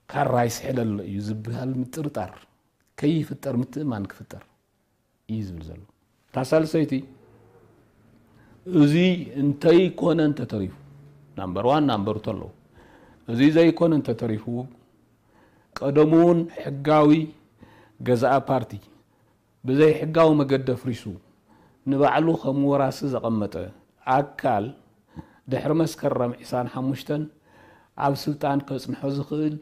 ካራ ይስሕል ኣሎ እዩ ዝበሃል ምጥርጣር ከይፍጠር፣ ምትእማን ክፍጠር እዩ ዝብል ዘሎ። እታ ሳልሰይቲ፣ እዚ እንተይኮነ እንተተሪፉ፣ ናምበር ዋን ናምበር ቱ ኣለዉ። እዚ ዘይኮነ እንተተሪፉ፣ ቀደሙ እውን ሕጋዊ ገዛኢ ፓርቲ ብዘይ ሕጋዊ መገዲ ኣፍሪሱ ንባዕሉ ከም ወራሲ ዘቐመጠ ኣካል፣ ድሕሪ መስከረም ዕስራን ሓሙሽተን ኣብ ስልጣን ከጽንሖ ዝኽእል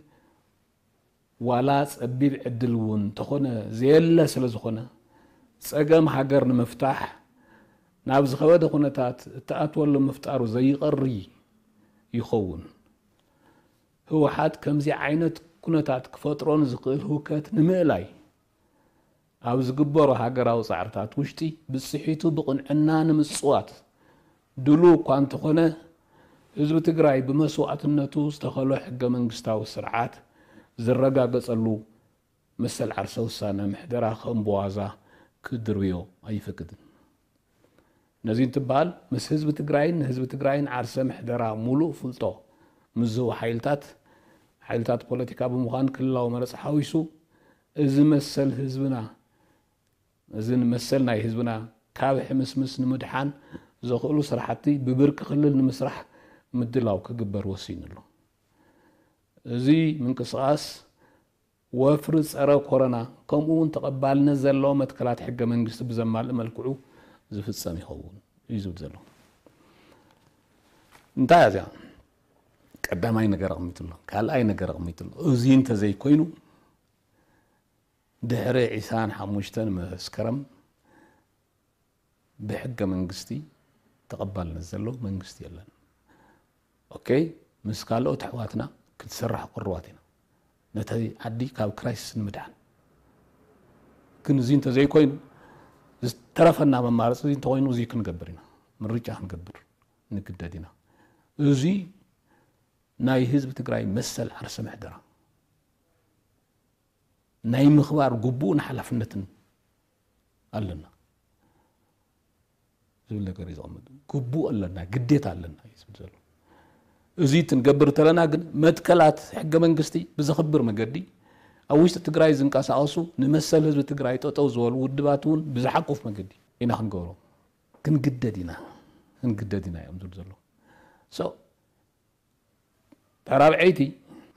ዋላ ጸቢብ ዕድል እውን እንተኾነ ዘየለ ስለ ዝኾነ፣ ጸገም ሃገር ንምፍታሕ ናብ ዝኸበደ ኩነታት እትኣትወሉ ምፍጣሩ ዘይቐሪ ይኸውን። ህወሓት ከምዚ ዓይነት ኩነታት ክፈጥሮ ንዝኽእል ህውከት ንምእላይ ኣብ ዝግበሩ ሃገራዊ ጻዕርታት ውሽጢ ብጽሒቱ ብቕንዕና ንምጽዋት ድሉው እኳ እንተኾነ፣ ህዝቢ ትግራይ ብመስዋእትነቱ ዝተኸሎ ሕገ መንግስታዊ ስርዓት ዝረጋገጸሉ መሰል ዓርሰ ውሳነ ምሕደራ ከም ብዋዛ ክድርብዮ ኣይፈቅድን። ነዚ እንትበሃል፣ ምስ ህዝቢ ትግራይን ንህዝቢ ትግራይን ዓርሰ ምሕደራ ሙሉእ ፍልጦ ምስ ዝህቡ ሓይልታት፣ ሓይልታት ፖለቲካ ብምዃን ክልላዊ መረፃ ሓዊሱ፣ እዚ መሰል ህዝብና፣ እዚ መሰል ናይ ህዝብና ካብ ሕምስምስ ንምድሓን ዘኽእሉ ስራሕቲ ብብርቂ ክልል ንምስራሕ ምድላው ክግበር ወሲኑ ኣሎ። እዚ ምንቅስቓስ ወፍሪ ጸረ ኮረና፣ ከምኡ እውን ተቐባልነት ዘለዎ መትከላት ሕገ መንግስቲ ብዘማልእ መልክዑ ዝፍጸም ይኸውን እዩ ዝብል ዘሎ። እንታይ እያ እዚኣ? ቀዳማይ ነገር ኣቕሚጡ ኣሎ። ካልኣይ ነገር ኣቕሚጡ ኣሎ። እዚ እንተዘይኮይኑ፣ ድሕሪ ዕስራን ሓሙሽተን መስከረም ብሕገ መንግስቲ ተቐባልነት ዘለዎ መንግስቲ የለን። ኦኬ፣ ምስ ካልኦት ኣሕዋትና ክትሰርሕ ቅሩባት ኢና፣ ነቲ ዓዲ ካብ ክራይሲስ ንምድሓን። ግን እዚ እንተዘይኮይኑ፣ ዝተረፈና መማረፂ እዚ እንተኾይኑ፣ እዚ ክንገብር ኢና፣ ምርጫ ክንገብር ንግደድ ኢና። እዚ ናይ ህዝቢ ትግራይ መሰል ዓርሰ ምሕደራ ናይ ምኽባር ግቡእን ሓላፍነትን ኣለና ዝብል ነገር እዩ ዘቐምጥ። ግቡእ ኣለና፣ ግዴታ ኣለና እዩ ዝብል ዘሎ። እዚ ክንገብር እንተለና ግን መትከላት ሕገ መንግስቲ ብዘኽብር መገዲ፣ ኣብ ውሽጢ ትግራይ ዝንቀሳቐሱ ንመሰል ህዝቢ ትግራይ ጠጠው ዝበሉ ውድባት እውን ብዝሓቁፍ መገዲ ኢና ክንገብሮ ክንግደድ ኢና፣ ክንግደድ ኢና እዮም ዝብል ዘሎ። So፣ እታ ራብዐይቲ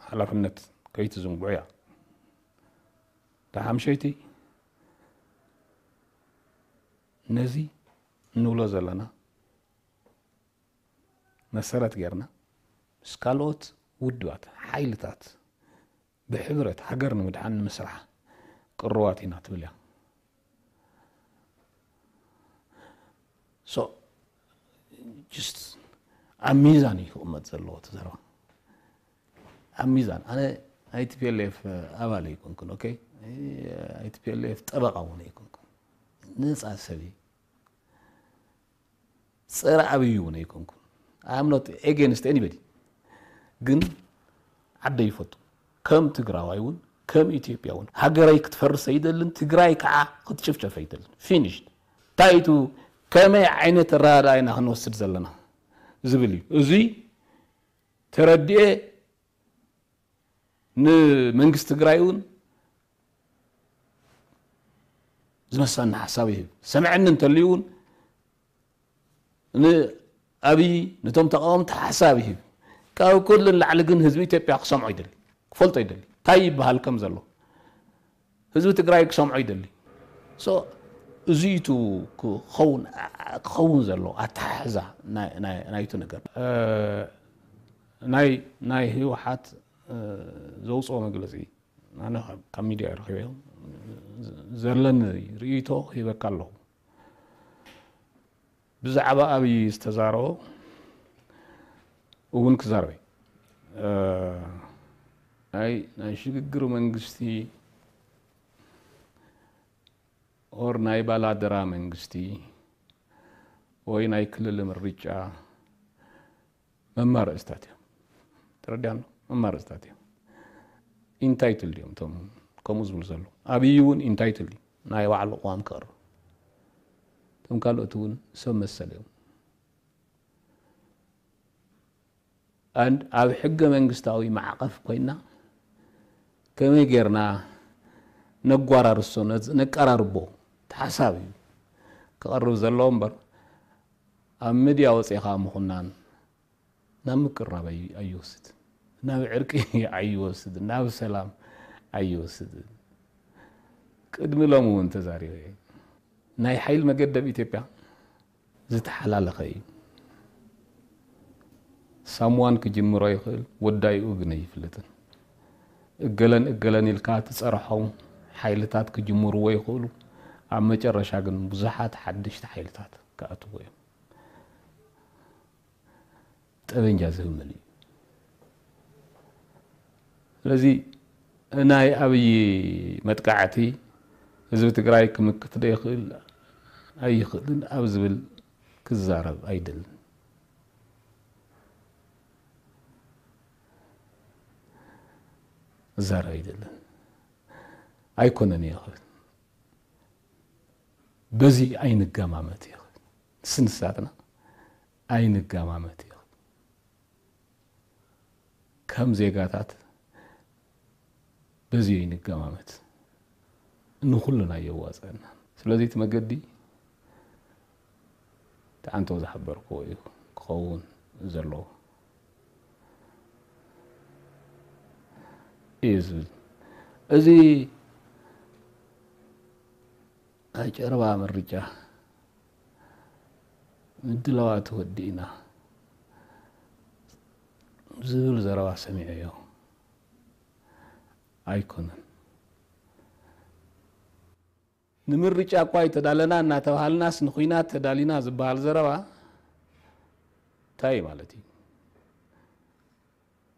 ሓላፍነት ከይትዝንግዑ እያ። እታ ሓምሸይቲ ነዚ እንብሎ ዘለና መሰረት ጌርና ምስ ካልኦት ውድባት፣ ሓይልታት ብሕብረት ሃገር ንምድሓን ንምስራሕ ቅሩባት ኢና ትብል እያ። So፣ just ኣብ ሚዛን እዩ ክቕመጥ ዘለዎ እቲ ዘረባ። ኣብ ሚዛን። ኣነ ናይ ቲ ፒ ኤል ኤፍ ኣባል ኣይኮንኩን፣ ኦኬ? ናይ ቲ ፒ ኤል ኤፍ ጠበቓ እውን ኣይኮንኩን። ነፃ ሰብ እየ። ጸረ ኣብይ እውን ኣይኮንኩን። I am not against anybody። ግን ዓደይ ይፈቱ። ከም ትግራዋይ እውን፣ ከም ኢትዮጵያ እውን ሃገረይ ክትፈርስ ኣይደልን፣ ትግራይ ከዓ ክትጭፍጨፍ ኣይደልን። ፊኒሽድ። እንታይ እቲ ከመይ ዓይነት ኣረዳድኣ ኢና ክንወስድ ዘለና ዝብል እዩ። እዚ ተረዲኤ ንመንግስቲ ትግራይ እውን ዝመሳኒ ሓሳብ ይህብ። ሰምዐኒ እንተልዩ እውን ንኣብይ፣ ነቶም ተቃወምቲ ሓሳብ ይህብ። ካብ ኩሉ ንላዕሊ ግን ህዝቢ ኢትዮጵያ ክሰምዖ ይደሊ፣ ክፈልጦ ይደሊ። እንታይ ይበሃል ከም ዘሎ ህዝቢ ትግራይ ክሰምዖ ይደሊ። So፣ እዚ እዩ ክኸውን፣ ክኸውን ዘሎ ኣተሓሕዛ ናይ፣ ናይ፣ ናይቲ ነገር። እ፣ ናይ፣ ናይ ህወሓት፣ እ፣ ዘውፅኦ መግለፂ ኣነ ካብ፣ ካብ ሚድያ ረኺበ ዘለኒ ርእይቶ ሂበካ ኣለኹ። ብዛዕባ ኣብይ ዝተዛረቦ እውን ክዛረበ፣ እ፣ ናይ፣ ናይ ሽግግር መንግስቲ ኦር ናይ ባላደራ መንግስቲ ወይ ናይ ክልል ምርጫ መማረፅታት እዮም። ተረዲኣና? መማረፅታት እዮም። ኢንታይትልድ እዮም እቶም ከምኡ ዝብሉ ዘለዉ። ኣብይ እውን ኢንታይትልድ እዩ። ናይ ባዕሉ ቅዋም ክቕርብ። እቶም ካልኦት እውን ሰብ መሰል እዮም። ኣንድ ኣብ ሕገ መንግስታዊ ማዕቐፍ ኮይና ከመይ ጌርና ነጓራርሶ፣ ነዝ-፣ ነቀራርቦ፣ እቲ ሓሳብ እዩ ክቐርብ ዘለዎ እምበር፣ ኣብ ሚድያ ወፂኻ ምኹናን ናብ ምቅራብ ኣይ-፣ ኣይወስድን፣ ናብ ዕርቂ ኣይወስድን፣ ናብ ሰላም ኣይወስድን። ቅድሚ ሎሚ እውን ተዛሪበ እየ። ናይ ሓይሊ መገደብ ኢትዮጵያ ዝተሓላለኸ እዩ። ሳምዋን ክጅምሮ ይኽእል፣ ወዳይኡ ግን ኣይፍለጥን። እገለን እገለን ኢልካ ትጸርሖም ሓይልታት ክጅምርዎ ይኽእሉ። ኣብ መጨረሻ ግን ብዙሓት ሓደሽቲ ሓይልታት ክኣትዉ እዮም። ጠበንጃ ዝህብ መን እዩ? ስለዚ ናይ ኣብይ መጥቃዕቲ ህዝቢ ትግራይ ክምክት ዶ ይኽእል ኣይኽእልን ኣብ ዝብል ክዛረብ ኣይደልን። ክዛረብ ኣይደልን። ኣይኮነን እየ ክብል። በዚ ኣይንገማመት እየ ክብል። ንስንሳትና ኣይንገማመት እየ ክብል። ከም ዜጋታት በዚ ኣይንገማመት። ንኹልና የዋፀና። ስለዚ እቲ መገዲ እቲ ኣንተው ዝሓበርክዎ እዩ ክኸውን ዘለዎ እዩ ዝብል። እዚ ናይ ጨረባ ምርጫ ምድላዋት ወዲእና ዝብል ዘረባ ሰሚዐዮ ኣይኮነን። ንምርጫ እኳ ኣይተዳለና እናተባሃልናስ ንኹናት ተዳሊና ዝበሃል ዘረባ እንታይ ማለት እዩ?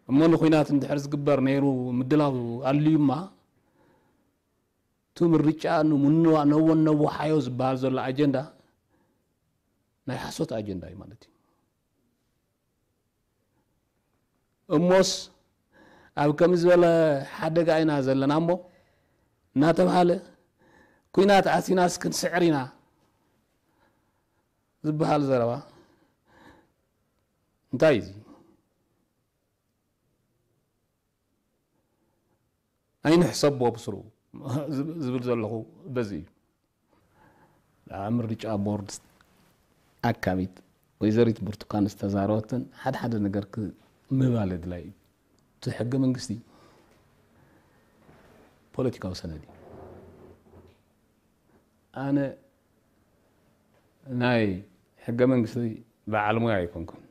እሞ ንኹናት እንድሕር ዝግበር ነይሩ ምድላው ኣልዩማ፣ እቲ ምርጫ ንምንዋ-፣ ነወ-፣ ነወሓዮ ዝበሃል ዘሎ ኣጀንዳ ናይ ሓሶት ኣጀንዳ እዩ ማለት እዩ። እሞስ ኣብ ከምዚ ዝበለ ሓደጋ ኢና ዘለና እሞ እናተባሃለ ኲናት ኣቲናስ ክንስዕር ኢና ዝበሃል ዘረባ እንታይ እዩ እዚ? ኣይንሕሰቦ ብስሩ ዝብል ዘለኹ በዚ እዩ። ኣብ ምርጫ ቦርድ ኣካቢት ወይዘሪት ብርቱካን ዝተዛረበትን ሓደ ሓደ ነገር ክ-፣ ምባል ኣድላይ እዩ። እቲ ሕገ መንግስቲ ፖለቲካዊ ሰነድ እዩ። ኣነ ናይ ሕገ መንግስቲ በዓል ሞያ ኣይኮንኩን፣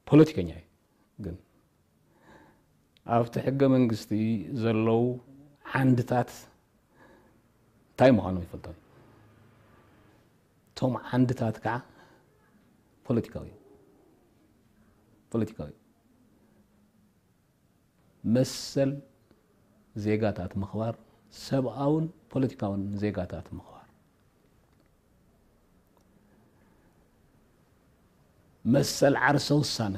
ፖለቲከኛ እየ። ግን ኣብቲ ሕገ መንግስቲ ዘለዉ ዓንድታት እንታይ ምዃኖም ይፈልጦም። እቶም ዓንድታት ከዓ ፖለቲካዊ እዮም። ፖለቲካዊ እዮም። መሰል ዜጋታት ምኽባር፣ ሰብኣውን ፖለቲካውን ዜጋታት ምኽባር፣ መሰል ዓርሰ ውሳነ፣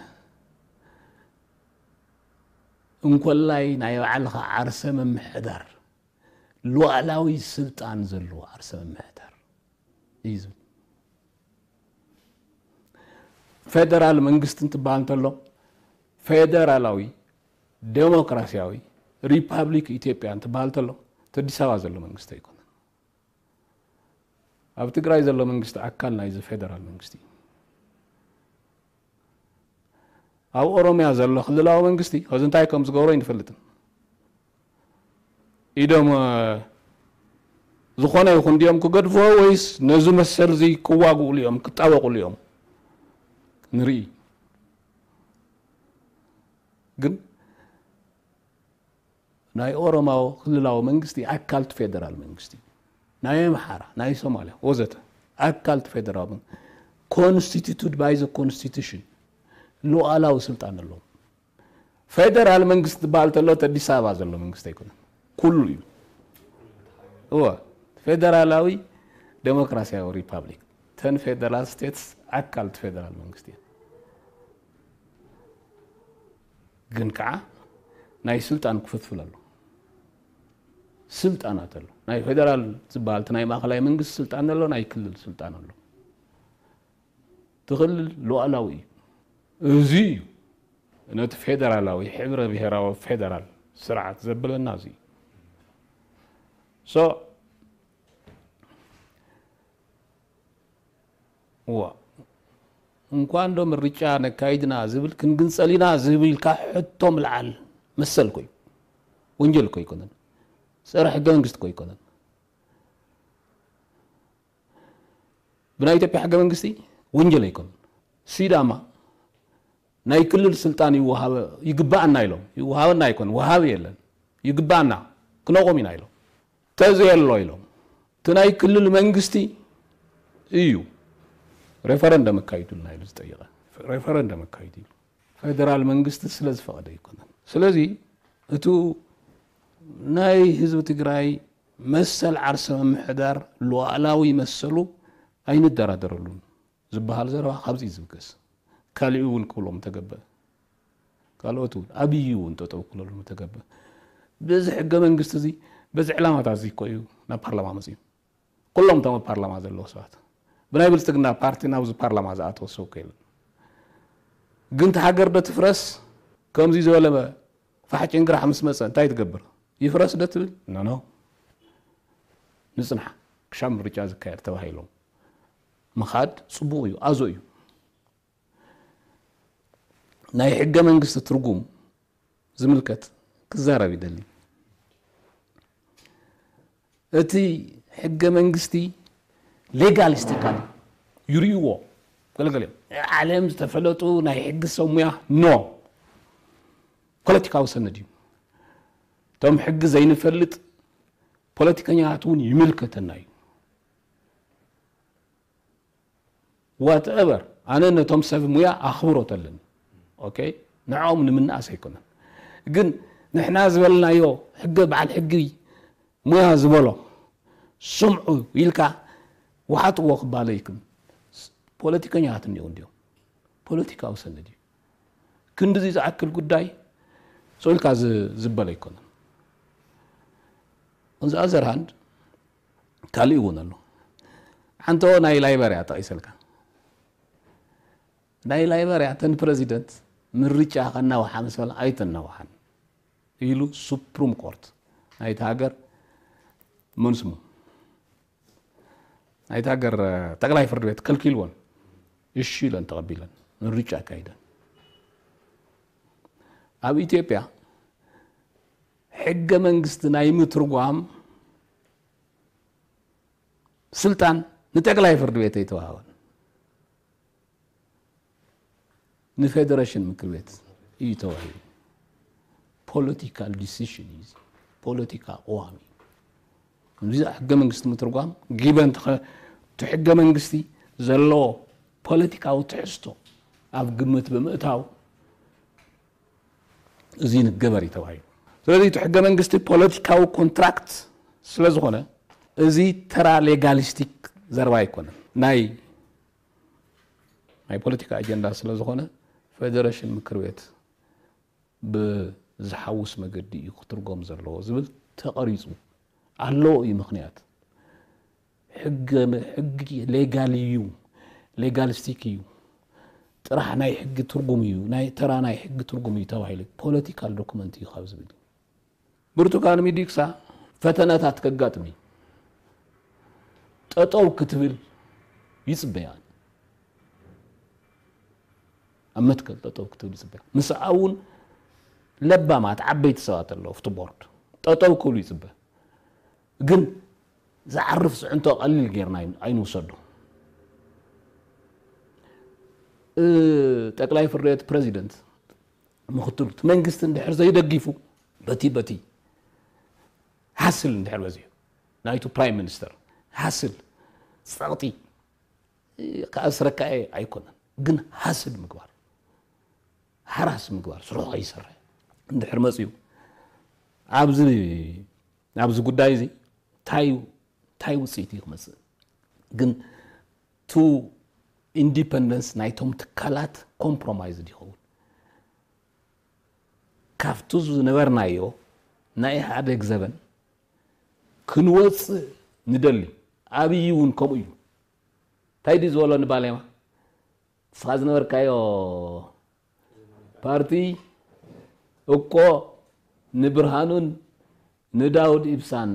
እንኮላይ ናይ ባዕልኻ ዓርሰ ምምሕዳር፣ ሉዓላዊ ስልጣን ዘለዎ ዓርሰ ምምሕዳር እዩ ዝብል። ፌደራል መንግስቲ እንትበሃል እንተሎ፣ ፌደራላዊ ዴሞክራሲያዊ ሪፓብሊክ ኢትዮጵያ እንትበሃል እንተሎ፣ እቲ ኣዲስ ኣበባ ዘሎ መንግስቲ ኣይኮነን። ኣብ ትግራይ ዘሎ መንግስቲ ኣካል ናይዚ ፌደራል መንግስቲ እዩ። ኣብ ኦሮምያ ዘሎ ክልላዊ መንግስቲ ሕዚ እንታይ ከም ዝገብሮ ኣይንፈልጥን። ኢዶም ዝኾነ ይኹን ድዮም ክገድፍዎ ወይስ ነዚ መሰል እዚ ክዋግእሉ እዮም ክጣበቁሉ እዮም ንርኢ። ግን ናይ ኦሮማዊ ክልላዊ መንግስቲ ኣካል እቲ ፌደራል መንግስቲ ናይ ኣምሓራ ናይ ሶማልያ ወዘተ ኣካል እቲ ፌደራል መንግስቲ constituted by the constitution ሉዓላዊ ስልጣን ኣለዎም። ፌደራል መንግስቲ ዝበሃል ተሎ እቲ ኣዲስ ኣበባ ዘሎ መንግስቲ ኣይኮነን፣ ኩሉ እዩ። እወ፣ ፌደራላዊ ዴሞክራሲያዊ ሪፓብሊክ ተን ፌደራል ስቴትስ ኣካል እቲ ፌደራል መንግስቲ እየን። ግን ከዓ ናይ ስልጣን ክፍፍል ኣሎ። ስልጣናት ኣሎ። ናይ ፌደራል ዝበሃል እቲ ናይ ማእኸላይ መንግስቲ ስልጣን ኣሎ፣ ናይ ክልል ስልጣን ኣሎ። እቲ ክልል ሉዓላዊ እዩ። እዚ እዩ ነቲ ፌደራላዊ ሕብረ ብሔራዊ ፌደራል ስርዓት ዘብለና እዚ እዩ። So እዋ እንኳን ዶ ምርጫ ነካይድና ዝብል ክንግንፀል ኢና ዝብል ኢልካ ሕቶ ምልዓል መሰል ኮይ ወንጀል ኮ ይኮነን፣ ፀረ ሕገ መንግስቲ ኮ ይኮነን። ብናይ ኢትዮጵያ ሕገ መንግስቲ ወንጀል ኣይኮነን። ሲዳማ ናይ ክልል ስልጣን ይወሃበ ይግባኣና ኢሎም ይወሃበና ኣይኮን ወሃቢ የለን ይግባኣና ክነቆም ኢና ኢሎም ተዘየሎ ኢሎም እቲ ናይ ክልል መንግስቲ እዩ ሬፈረንደም ኣካይዱልና ኢሉ ዝጠይቀ ሬፈረንደም ኣካይዱ ኢሉ ፌደራል መንግስቲ ስለ ዝፈቐደ ኣይኮነን። ስለዚ እቱ ናይ ህዝቢ ትግራይ መሰል ዓርሰ ምምሕዳር ሉዓላዊ መሰሉ ኣይንደራደረሉን ዝበሃል ዘረባ ካብዚ እዩ ዝብገስ። ካሊኡ እውን ክብሎም ተገበ። ካልኦት እውን ኣብይ እውን ጠጠው ክብለሉ ተገበ። በዚ ሕገ መንግስቲ እዚ በዚ ዕላማታት እዚ እኮ እዩ ናብ ፓርላማ መፅዩ። ኩሎም እቶም ኣብ ፓርላማ ዘለዉ ሰባት ብናይ ብልፅግና ፓርቲ ናብዚ ፓርላማ ዝኣተወ ሰብ እኮ የለን። ግን እቲ ሃገር ዶ ትፍረስ? ከምዚ ዝበለ ፋሕ ጭንግራሕ ምስ መፀ እንታይ ትገብር? ይፍረስ ዶ ትብል? ኖ ኖ። ንፅንሓ ክሻብ ምርጫ ዝካየድ ተባሂሎም ምኻድ ፅቡቕ እዩ፣ ኣዞ እዩ። ናይ ሕገ መንግስቲ ትርጉም ዝምልከት ክዛረብ ይደሊ። እቲ ሕገ መንግስቲ ሌጋሊስቲካል ይርእይዎ ገለገለ እዮም። ዓለም ዝተፈለጡ ናይ ሕጊ ሰብ ሙያ ኖ ፖለቲካዊ ሰነድ እዩ። እቶም ሕጊ ዘይንፈልጥ ፖለቲከኛታት እውን ይምልከተና እዩ። ዋትኤቨር ኣነ ነቶም ሰብ ሙያ ኣኽብሮት ኣለኒ። ኦኬ ንዕኦም ንምንኣስ ኣይኮነን። ግን ንሕና ዝበልናዮ ሕገ በዓል ሕጊ ሙያ ዝበሎ ስምዑ ኢልካ ውሓጥዎ ክባለይኩም ፖለቲከኛታት እኒኦ እንዲዮም። ፖለቲካዊ ሰነድ እዩ። ክንድዚ ዝኣክል ጉዳይ ሰው ኢልካ ዝበለ ኣይኮነን። On the other hand ካልእ እውን ኣሎ። ሓንቶ ናይ ላይበርያ ጠቒሰልካ ናይ ላይበርያ ተን ፕረዚደንት ምርጫ ከናውሓ ምስ በላ ኣይተናውሓን ኢሉ ሱፕሩም ኮርት ናይቲ ሃገር መንስሙ ናይቲ ሃገር ጠቅላይ ፍርድ ቤት ከልኪልዎን እሺ ኢለን ተቐቢለን ምርጫ ኣካይደን። ኣብ ኢትዮጵያ ሕገ መንግስቲ ናይ ምትርጓም ስልጣን ንጠቅላይ ፍርድ ቤት ኣይተዋሃበን። ንፌደሬሽን ምክር ቤት እዩ ተዋሂቡ። ፖለቲካል ዲሲሽን እዩ። ፖለቲካ ቅዋም እዩ። ከምዚ ሕገ መንግስቲ ምትርጓም ጊበን እቲ ሕገ መንግስቲ ዘለዎ ፖለቲካዊ ትሕዝቶ ኣብ ግምት ብምእታው እዚ ንገበር እዩ ተባሂሉ። ስለዚ እቲ ሕገ መንግስቲ ፖለቲካዊ ኮንትራክት ስለ ዝኾነ እዚ ተራ ሌጋሊስቲክ ዘረባ ኣይኮነን። ናይ ናይ ፖለቲካ ኣጀንዳ ስለ ዝኾነ ፌደሬሽን ምክር ቤት ብዝሓውስ መገዲ እዩ ክትርጎም ዘለዎ ዝብል ተቐሪፁ ኣለዎ እዩ ምኽንያት ሕገ ሕጊ ሌጋል እዩ ሌጋሊስቲክ እዩ ጥራሕ ናይ ሕጊ ትርጉም እዩ ናይ ተራ ናይ ሕጊ ትርጉም እዩ ተባሂሉ ፖለቲካል ዶኩመንት እዩ ካብ ዝብል እዩ ብርቱካን ሚዲክሳ ፈተነታት ከጋጥም እዩ ጠጠው ክትብል ይጽበያ። ኣብ መትከል ጠጠው ክትብል ይጽበያ። ምስኣ እውን ለባማት ዓበይቲ ሰባት ኣለዉ ኣብቲ ቦርድ። ጠጠው ክብሉ ይጽበ። ግን ዝዓርፍ ጽዕንቶ ቀሊል ጌርና ኣይን-፣ ኣይንውሰዶ። እ፣ ጠቅላይ ፍርድ ቤት ፕሬዚደንት፣ ምክትሉ፣ እቲ መንግስቲ እንድሕር ዘይደጊፉ፣ በቲ፣ በቲ ሃስል እንድሕር በዚሑ፣ ናይቱ ፕራይም ሚኒስተር ሃስል፣ ጸቕጢ፣ እ፣ ክኣስረካ እየ ኣይኮነን፣ ግን ሃስል ምግባር፣ ሃራስ ምግባር፣ ስርሑ ከይሰርሕ እንድሕር መጽዩ፣ ኣብዚ፣ ኣብዚ ጉዳይ እዚ እንታይ እዩ፣ እንታይ ውጽኢት እዩ ክመጽእ? ግን ቱ ኢንዲፐንደንስ ናይቶም ትካላት ኮምፕሮማይዝ ይኸውን። ካብቱ ዝነበርናዮ ናይ ኢህኣዴግ ዘበን ክንወጽእ ንደሊ። ኣብይ እውን ከምኡ እዩ። እንታይ ድዩ ዝበሎ ንባሌማ? ንስኻ ዝነበርካዮ ፓርቲ እኮ ንብርሃኑን ንዳውድ ኢብሳን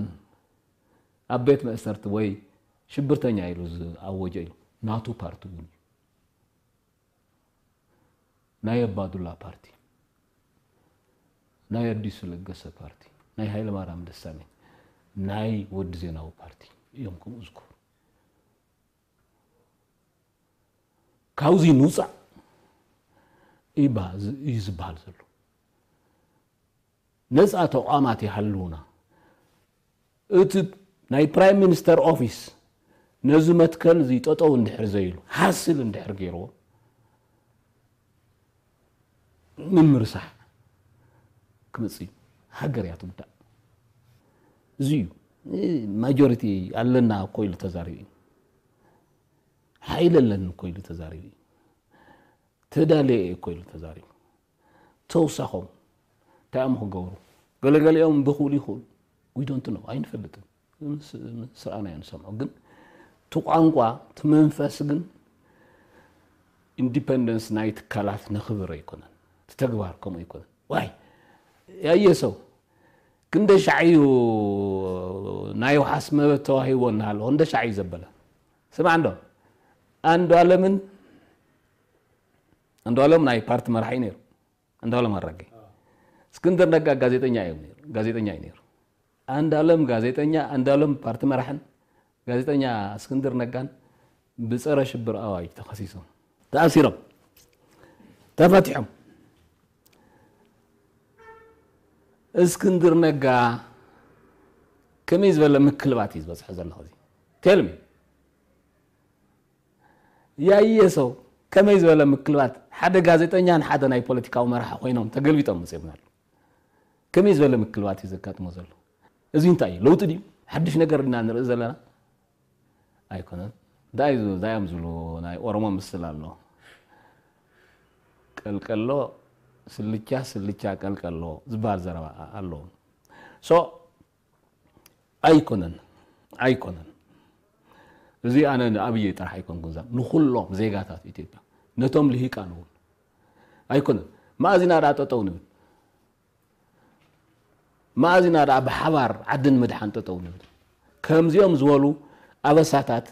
ኣብ ቤት መእሰርቲ ወይ ሽብርተኛ ኢሉ ዝኣወጀ እዩ። ናቱ ፓርቲ እውን እዩ። ናይ ኣባዱላ ፓርቲ፣ ናይ ኣዲሱ ለገሰ ፓርቲ፣ ናይ ሃይለማርያም ደሳለኝ፣ ናይ ወዲ ዜናዊ ፓርቲ እዮም ከምኡ ዝገብሩ። ካብዚ ንውፃእ እዩ ባ-፣ እዩ ዝበሃል ዘሎ። ነፃ ተቋማት ይሃልውና። እቲ ናይ ፕራይም ሚኒስተር ኦፊስ ነዚ መትከል እዚ ጠጠው እንድሕር ዘይሉ፣ ሃስል እንድሕር ገይርዎ፣ ምምርሳሕ ክመጽእ እዩ። ሃገር እያ ትጉዳእ። እዚ እዩ። ማጆሪቲ ኣለና እኮ ኢሉ ተዛሪቡ እዩ። ሓይሊ ኣለኒ እኮ ኢሉ ተዛሪቡ እዩ። ተዳልየ እየ እኮ ኢሉ ተዛሪቡ። ተውሳኾም እንታይ እዮም ክገብሩ? ገለገሊኦም ብኽእሉ ይኽእሉ። We don't know፣ ኣይንፈልጥን። ምስ-፣ ምስ ረኣናዮ ንሰምዖ። ግን እቲ ቋንቋ፣ እቲ መንፈስ ግን ኢንዲፐንደንስ ናይ ትካላት ነኽብር ኣይኮነን። እቲ ተግባር ከምኡ ኣይኮነን። ዋይ፣ ያየ ሰው ክንደ ሻዕ እዩ ናይ ውሓስ መበት ተዋሂቦ እናሃለዎ፣ ክንደ ሻዕ እዩ ዘበለ። ስማዕ እንዶ፣ ኣንዱ ኣለምን፣ ኣንዱ ኣለም ናይ ፓርቲ መራሒ ነይሩ። ኣንዱ ኣለም ኣራጌ። እስክንድር ነጋ ጋዜጠኛ እዩ ነይሩ፣ ጋዜጠኛ እዩ ነይሩ። ኣንዱ ኣለም ጋዜጠኛ፣ ኣንዱ ኣለም ፓርቲ መራሕን ጋዜጠኛ እስክንድር ነጋን ብጸረ ሽብር ኣዋጅ ተኸሲሶም። ተኣሲሮም። ተፈቲሖም። እስክንድር ነጋ ከመይ ዝበለ ምክልባት እዩ ዝበጽሖ ዘሎ ኸዚ? Tell me። ያየ ሰው ከመይ ዝበለ ምክልባት፣ ሓደ ጋዜጠኛን ሓደ ናይ ፖለቲካዊ መራሒ ኮይኖም ተገልቢጦም መጽኦም ኣለዉ። ከመይ ዝበለ ምክልባት እዩ ዘጋጥሞ ዘሎ? እዚ እንታይ እዩ? ለውጢ ድዩ? ሓድሽ ነገር ኢና ንርኢ ዘለና? ኣይኮነን። እንታይ እዩ፣ እንታይ እዮም ዝብሉ፣ ናይ ኦሮሞ ምስል ኣሎ። ቀልቀሎ ስልቻ፣ ስልቻ ቀልቀሎ ዝበሃል ዘረባ ኣሎ። So፣ ኣይኮነን፣ ኣይኮነን። እዚ ኣነ ንኣብይ ጥራሕ ኣይኮንኩን፣ እዛ ንኹሎም ዜጋታት ኢትዮጵያ፣ ነቶም ልሂቃን እውን ኣይኮነን። መኣዚና ደኣ ጠጠው ንብል? መኣዚና ደኣ ብሓባር ዓዲ ንምድሓን ጠጠው ንብል? ከምዚኦም ዝበሉ ኣበሳታት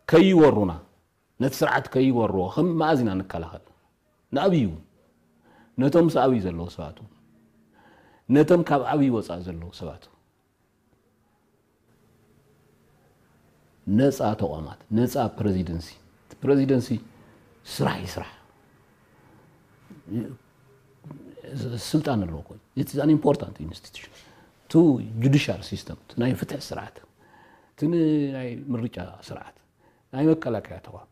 ከይወሩና፣ ነቲ ስርዓት ከይወርዎ ከም መኣዚና ንከላኸል። ንኣብይ እውን፣ ነቶም ምስ ኣብይ ዘለዉ ሰባት እውን፣ ነቶም ካብ ኣብይ ወፃእ ዘለዉ ሰባት እውን። ነፃ ተቋማት፣ ነፃ ፕሬዚደንሲ። እቲ ፕሬዚደንሲ ስራሕ ይስራሕ። ስልጣን ኣለዎ እኮ። It is an important institution። እቲ ጁዲሻል ሲስተም፣ እቲ ናይ ፍትሒ ስርዓት፣ እቲ ናይ ምርጫ ስርዓት፣ ናይ መከላከያ ተቋም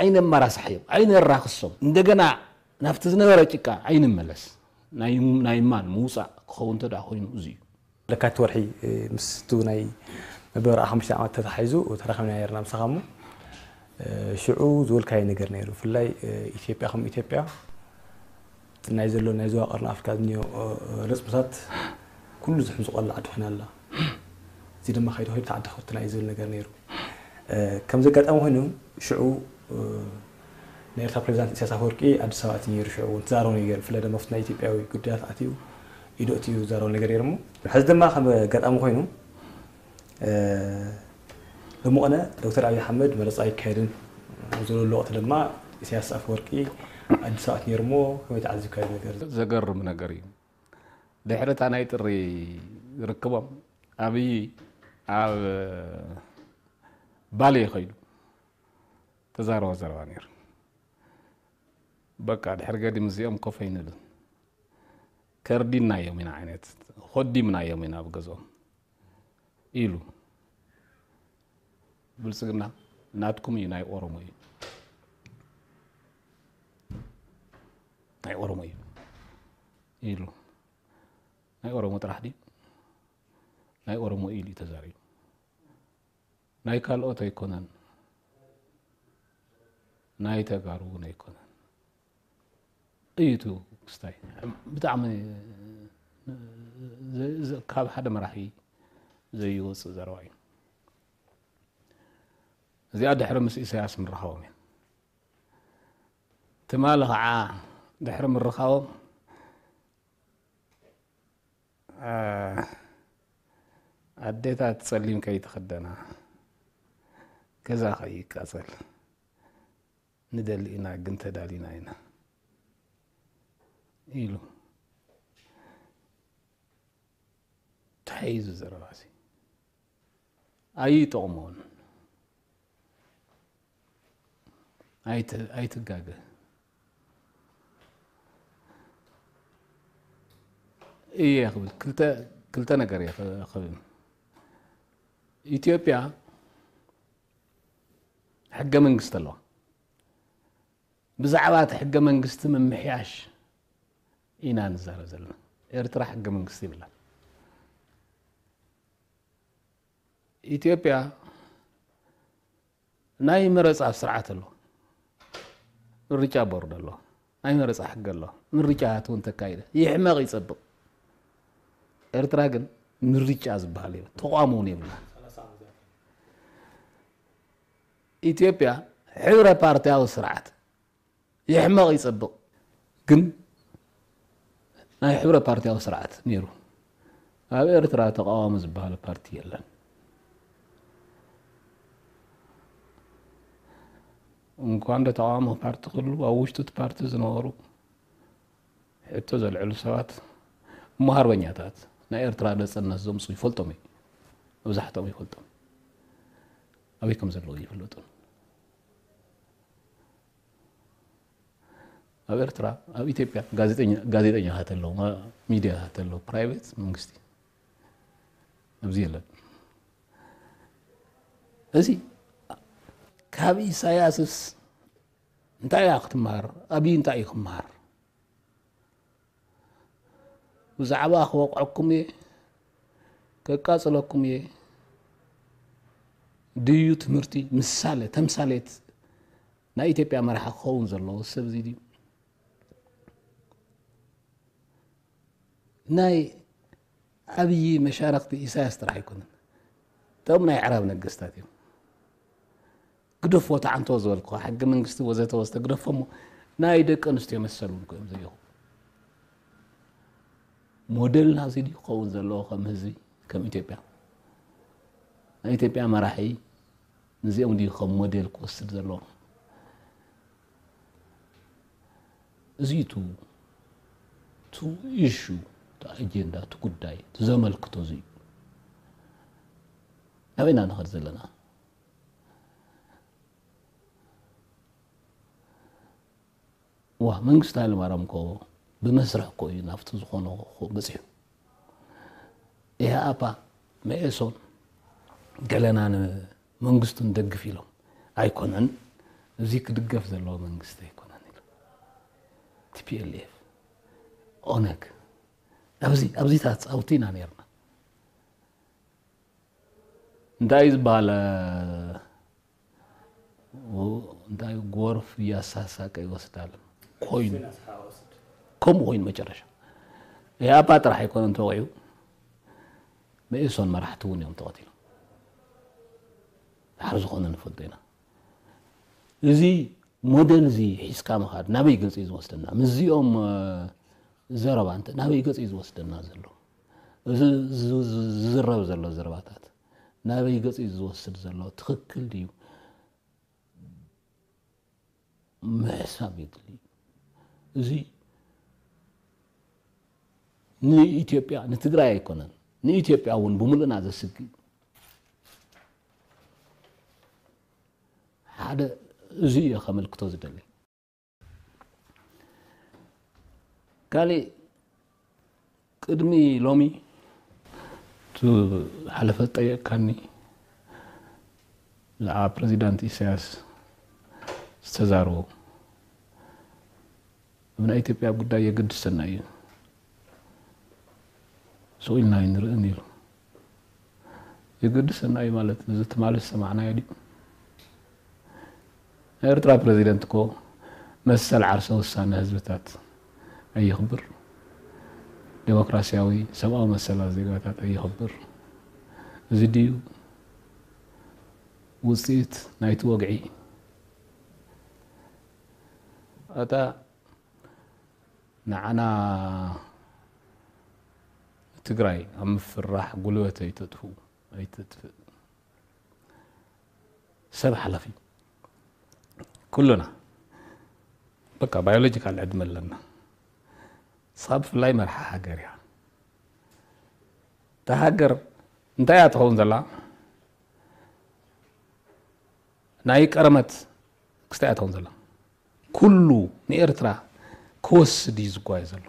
ኣይነመራሳሕዮም፣ ኣይነራኽሶም። እንደገና ናብቲ ዝነበረ ጭቃ ኣይንመለስ። ናይ፣ ናይ ማን ምውፃእ ክኸውን እንተ ደኣ ኮይኑ እዚ እዩ። ለካቲት ወርሒ፣ እ፣ ምስ እቲ ናይ መበል ኣርባዓ ሓሙሽተ ዓመት ተታሒዙ ተራኺብና ነይርና ምሳኻ እሞ፣ እ፣ ሽዑ ዝበልካዮ ነገር ነይሩ። ብፍላይ፣ እ፣ ኢትዮጵያ ከም ኢትዮጵያ ናይ ዘሎ ናይ ዞባ ቀርኒ ኣፍሪካ ዝኒኦ፣ እ፣ ረፅምታት ኩሉ ዝሕምዝቐሉ ዓዲ ኮይና ኣላ። እዚ ድማ ከይዱ ከይዱ ተዓዲ ክፍትና እዩ ዝብል ነገር ነይሩ። እ፣ ከምዚ ኣጋጣሚ ኮይኑ ሽዑ፣ እ፣ ናይ ኤርትራ ፕሬዚዳንት ኢሳያስ ኣፈወርቂ ኣዲስ ኣበባ ኣትዩ ነይሩ። ሽዑ እውን ተዛረቡ ነገር፣ ብፍላይ ድማ ኣብቲ ናይ ኢትዮጵያዊ ጉዳያት ኣትዩ ኢዱ ኣትዩ ዝዛረቡ ነገር ነይሩ እሞ፣ ሕዚ ድማ ከም ኣጋጣሚ ኮይኑ፣ እ፣ ብመቐነ ዶክተር ኣብይ ኣሕመድ መረፃ ኣይካየድን ኣብ ዝበለሉ ወቕቲ ድማ ኢሳያስ ኣፈወርቂ ኣዲስ ኣበባ ነይሩ እሞ ከመይ ተዓዚብካዮ ነገር? ዘገርም ነገር እዩ። ድሕሪ እታ ናይ ጥሪ ርክቦም ኣብይ ኣብ ባሌ ከይዱ ተዛረቦ ዘረባ ነይሩ። በቃ ድሕሪ ገዲም እዚኦም ኮፍ ኣይንብልን፣ ከርዲናዮም ኢና ዓይነት፣ ኮዲምናዮም ኢና ኣብ ገዝኦም ኢሉ። ብልጽግና ናትኩም እዩ፣ ናይ ኦሮሞ እዩ፣ ናይ ኦሮሞ እዩ ኢሉ። ናይ ኦሮሞ ጥራሕ ድዩ? ናይ ኦሮሞ ኢሉ እዩ ተዛሪቡ። ናይ ካልኦት ኣይኮነን፣ ናይ ተጋሩ እውን ኣይኮነን እዩ። እቲ ክስታይ ብጣዕሚ ዘ- ዘ- ካብ ሓደ መራሒ ዘይወፅእ ዘረባ እዩ። እዚኣ ድሕሪ ምስ ኢሳያስ ምርኻቦም እያ። ትማሊ ከዓ ድሕሪ ምርኻቦም ኣዴታት ጸሊም ከይትኽደና፣ ገዛ ከይቃጸል ንደሊ ኢና፣ ግን ተዳሊና ኢና ኢሉ ተሓይዙ ዘረባሲ ኣይጠቕሞን። ኣይትጋገ እየ ክብል ክልተ ነገር እየ ክብል። ኢትዮጵያ ሕገ መንግስቲ ኣለዋ። ብዛዕባ እቲ ሕገ መንግስቲ ምምሕያሽ ኢና ንዛረብ ዘለና። ኤርትራ ሕገ መንግስቲ ይብላ። ኢትዮጵያ ናይ መረፃ ስርዓት ኣሎ፣ ምርጫ ቦርድ ኣሎ፣ ናይ መረፃ ሕጊ ኣሎ። ምርጫ እውን ተካይደ ይሕመቕ ይፀብቕ። ኤርትራ ግን ምርጫ ዝበሃል የብላ፣ ተቋም እውን የብላ። ኢትዮጵያ ሕብረ ፓርቲያዊ ስርዓት ይሕመቕ ይፀብቕ ግን ናይ ሕብረ ፓርቲያዊ ስርዓት ነይሩ። ኣብ ኤርትራ ተቃዋሚ ዝበሃል ፓርቲ የለን። እንኳን ዶ ተቃዋሚ ፓርቲ ክህሉ ኣብ ውሽጡ እቲ ፓርቲ ዝነበሩ ሕቶ ዘልዕሉ ሰባት እሞ ሃርበኛታት ናይ ኤርትራ ነፃነት ዘምፁ ይፈልጦም እዩ። መብዛሕትኦም ይፈልጦም ኣበይ ከም ዘለዉ ይፍለጡን። ኣብ ኤርትራ ኣብ ኢትዮጵያ ጋዜጠኛታት ኣለዉ፣ ሚድያታት ኣለዉ፣ ፕራይቬት መንግስቲ ኣብዚ የለን። እዚ ካብ ኢሳያስስ እንታይ እያ ክትመሃር? ኣብይ እንታይ እዩ ክመሃር? ብዛዕባ ክወቕዐኩም እየ፣ ከቃጽለኩም እየ ድዩ ትምህርቲ? ምሳሌ ተምሳሌት ናይ ኢትዮጵያ መራሒ ክኸውን ዘለዎ ሰብ እዚ ድዩ? ናይ ኣብይ መሻረክቲ ኢሳያስ ጥራሕ ኣይኮነን። እቶም ናይ ኣዕራብ ነገስታት እዮም። ግደፎ ተዓንቶ ዝበልኩ ሕገ መንግስቲ ወዘተ ወዘተ ግደፎ እሞ ናይ ደቂ ኣንስትዮ መሰል እውን እዮም ዘይኹ። ሞዴልና እዚ ድዩ ክኸውን ዘለዎ ከም ህዝቢ ከም ኢትዮጵያ? ናይ ኢትዮጵያ መራሒ ንዚኦም ድዩ ከም ሞዴል ክወስድ ዘለዎ? እዚ ቱ ቱ ኢሹ እቲ ኣጀንዳ እቲ ጉዳይ እቲ ዘመልክቶ እዚ እዩ። ኣበይና ንኸድ ዘለና? ዋ መንግስቲ ሃይለማርያም እኮ ብመስርሕ እኮ እዩ ናብቲ ዝኾኖ በፂሑ። ኢህኣፓ መኤሶን ገለና ንመንግስቱ ንደግፍ ኢሎም ኣይኮነን፣ እዚ ክድገፍ ዘለዎ መንግስቲ ኣይኮነን ኢሉ። ቲፒኤልኤፍ ኦነግ ኣብዚ ኣብዚታት ፃውቲ ኢና ነርና። እንታይ ዝበሃል እንታይ ጎርፍ እያሳሳቀ ይወስዳል ኮይኑ ከምኡ ኮይኑ መጨረሻ ኢህኣፓ ጥራሕ ኣይኮነን ተወቂዑ መኢሶን መራሕቲ እውን እዮም ተቐቲሎም። ድሓር ዝኾነ ንፈልጦ ኢና። እዚ ሞዴል እዚ ሒዝካ ምኻድ ናበይ ገፅ እዩ ዝወስደና? ምስዚኦም ዘረባ እንተ ናበይ ገፅ እዩ ዝወስደና ዘሎ? እዚ ዝዝረብ ዘሎ ዘረባታት ናበይ ገጽ እዩ ዝወስድ ዘሎ? ትኽክል ድዩ? ምሕሳብ የድሊ። እዚ ንኢትዮጵያ፣ ንትግራይ ኣይኮነን፣ ንኢትዮጵያ እውን ብምሉእና ዘስግእ ሓደ እዚ እየ ከመልክቶ ዝደሊ። ካልእ ቅድሚ ሎሚ እቲ ሓለፈ ጠየቅካኒ ብዛዕባ ፕረዚዳንት ኢሳያስ ዝተዛረቦ ኣብ ናይ ኢትዮጵያ ጉዳይ የገድሰና እዩ ስቕ ኢልና ኣይንርእን ኢሉ። የገድሰና እዩ ማለት እዚ ትማሊ ዝሰማዕናዮ ድዩ? ናይ ኤርትራ ፕረዚደንት እኮ መሰል ዓርሰ ውሳነ ህዝብታት ኣየኽብር፣ ዴሞክራሲያዊ ሰብኣዊ መሰላት ዜጋታት ኣየኽብር። እዚ ድዩ ውፅኢት ናይቲ ወግዒ? እታ ንዓና ትግራይ ኣብ ምፍራሕ ጉልበት ኣይተጥፍኡ ኣይተጥፍእ ሰብ ሓላፊ ኩሉና በቃ ባዮሎጂካል ዕድመ ኣለና። ንስኻ ብፍላይ መርሓ ሃገር እያ። እታ ሃገር እንታይ እያ ትኸውን ዘላ? ናይ ቀረመት ክስታይ እያ ትኸውን ዘላ። ኩሉ ንኤርትራ ክወስድ እዩ ዝጓየ ዘሎ።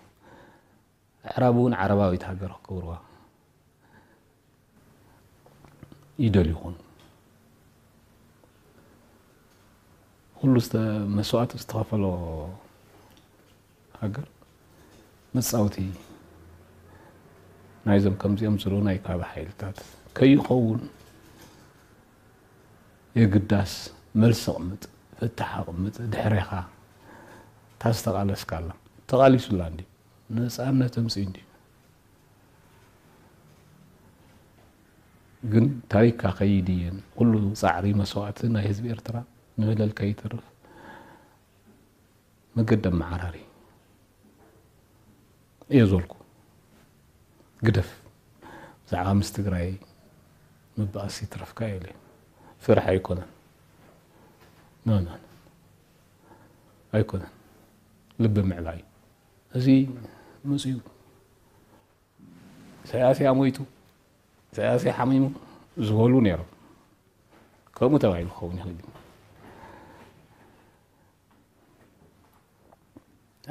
ኣዕራብ እውን ዓረባዊት ሃገር ክገብርዋ ይደልዩ ይኾኑ። ኩሉ መስዋእቲ ዝተኸፈሎ ሃገር መጻወቲ ናይዞም ከምዚኦም ዝበሉ ናይ ካባ ሓይልታት ከይኸውን የግዳስ መልሲ ኣቕምጥ፣ ፍታሕ ኣቕምጥ፣ ድሕሬኻ እታ ዝተቓለስካላ ተቓሊሱላ እንዲ ነጻነት ኣምጽኡ እንዲ ግን ታሪክካ ከይድየን ኩሉ ጻዕሪ መስዋእቲ ናይ ህዝቢ ኤርትራ ንበደል ከይተርፍ መገዲ ኣመዓራሪ እየ ዘልኩ። ግደፍ ብዛዕባ ምስ ትግራይ ምባእሲ ትረፍካ የለ ፍራሕ ኣይኮነን ኖ ኖ ኣይኮነን ልቢ ምዕባይ እዚ መፅዩ ኢሳያስ እያ ሞይቱ ኢሳያስ እያ ሓሚሙ ዝበሉ ነይሮም። ከምኡ ተባሂሉ ክኸውን ይኽእል እዩ።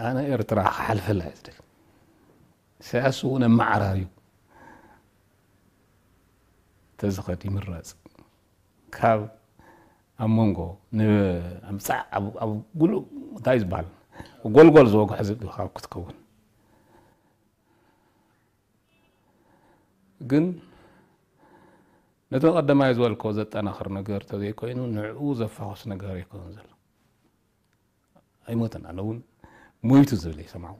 ኣነ ኤርትራ ክሓልፈላ እየ ዝደሊ። ኢሳያስ እውን ኣመዓራርዩ ተዝኸድ ይምረፅ። ካብ ኣብ መንጎ ንኣምፃዕ ኣብ ጉሉ እንታይ ዝበሃል ጎልጎል ዝወግሖ ዝብል ካብ ክትከውን ግን ነቲ ቀደማይ ዝበልኮ ዘጠናኽር ነገር ተዘይኮይኑ ንዕኡ ዘፋኹስ ነገር ኣይኮነን ዘሎ። ኣይሞተን ኣነ እውን ሞይቱ ዝብል ይሰማዑ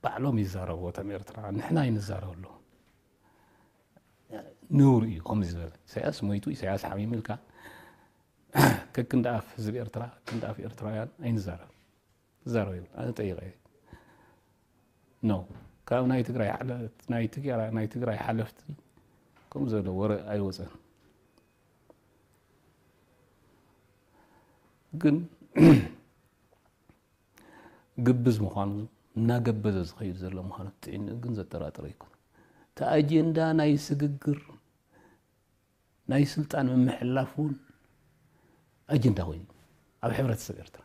ባዕሎም ይዛረቡ እቶም ኤርትራ ንሕና ይንዛረበሉ ነውር እዩ ከምዚ ዝበለ ኢሳያስ ሞይቱ ኢሳያስ ሓሚሙ ኢልካ ከክንዲ ኣፍ ህዝቢ ኤርትራ ክንዲ ኣፍ ኤርትራውያን ኣይንዛረብ ትዛረብ ይብል ኣነ ጠይቀ ኖ ካብ ናይ ትግራይ ሓለፍቲ ናይ ትግራይ ናይ ትግራይ ሓለፍቲ ከምኡ ዘሎ ወረ ኣይወፀን ግን ግብዝ ምዃኑ እናገበዘ ዝኸይድ ዘሎ ምዃኑ ትጥዕንኡ ግን ዘጠራጥር ኣይኮነ እቲ ኣጀንዳ ናይ ስግግር ናይ ስልጣን ምምሕላፍ እውን ኣጀንዳ ኮይኑ ኣብ ሕብረተሰብ ኤርትራ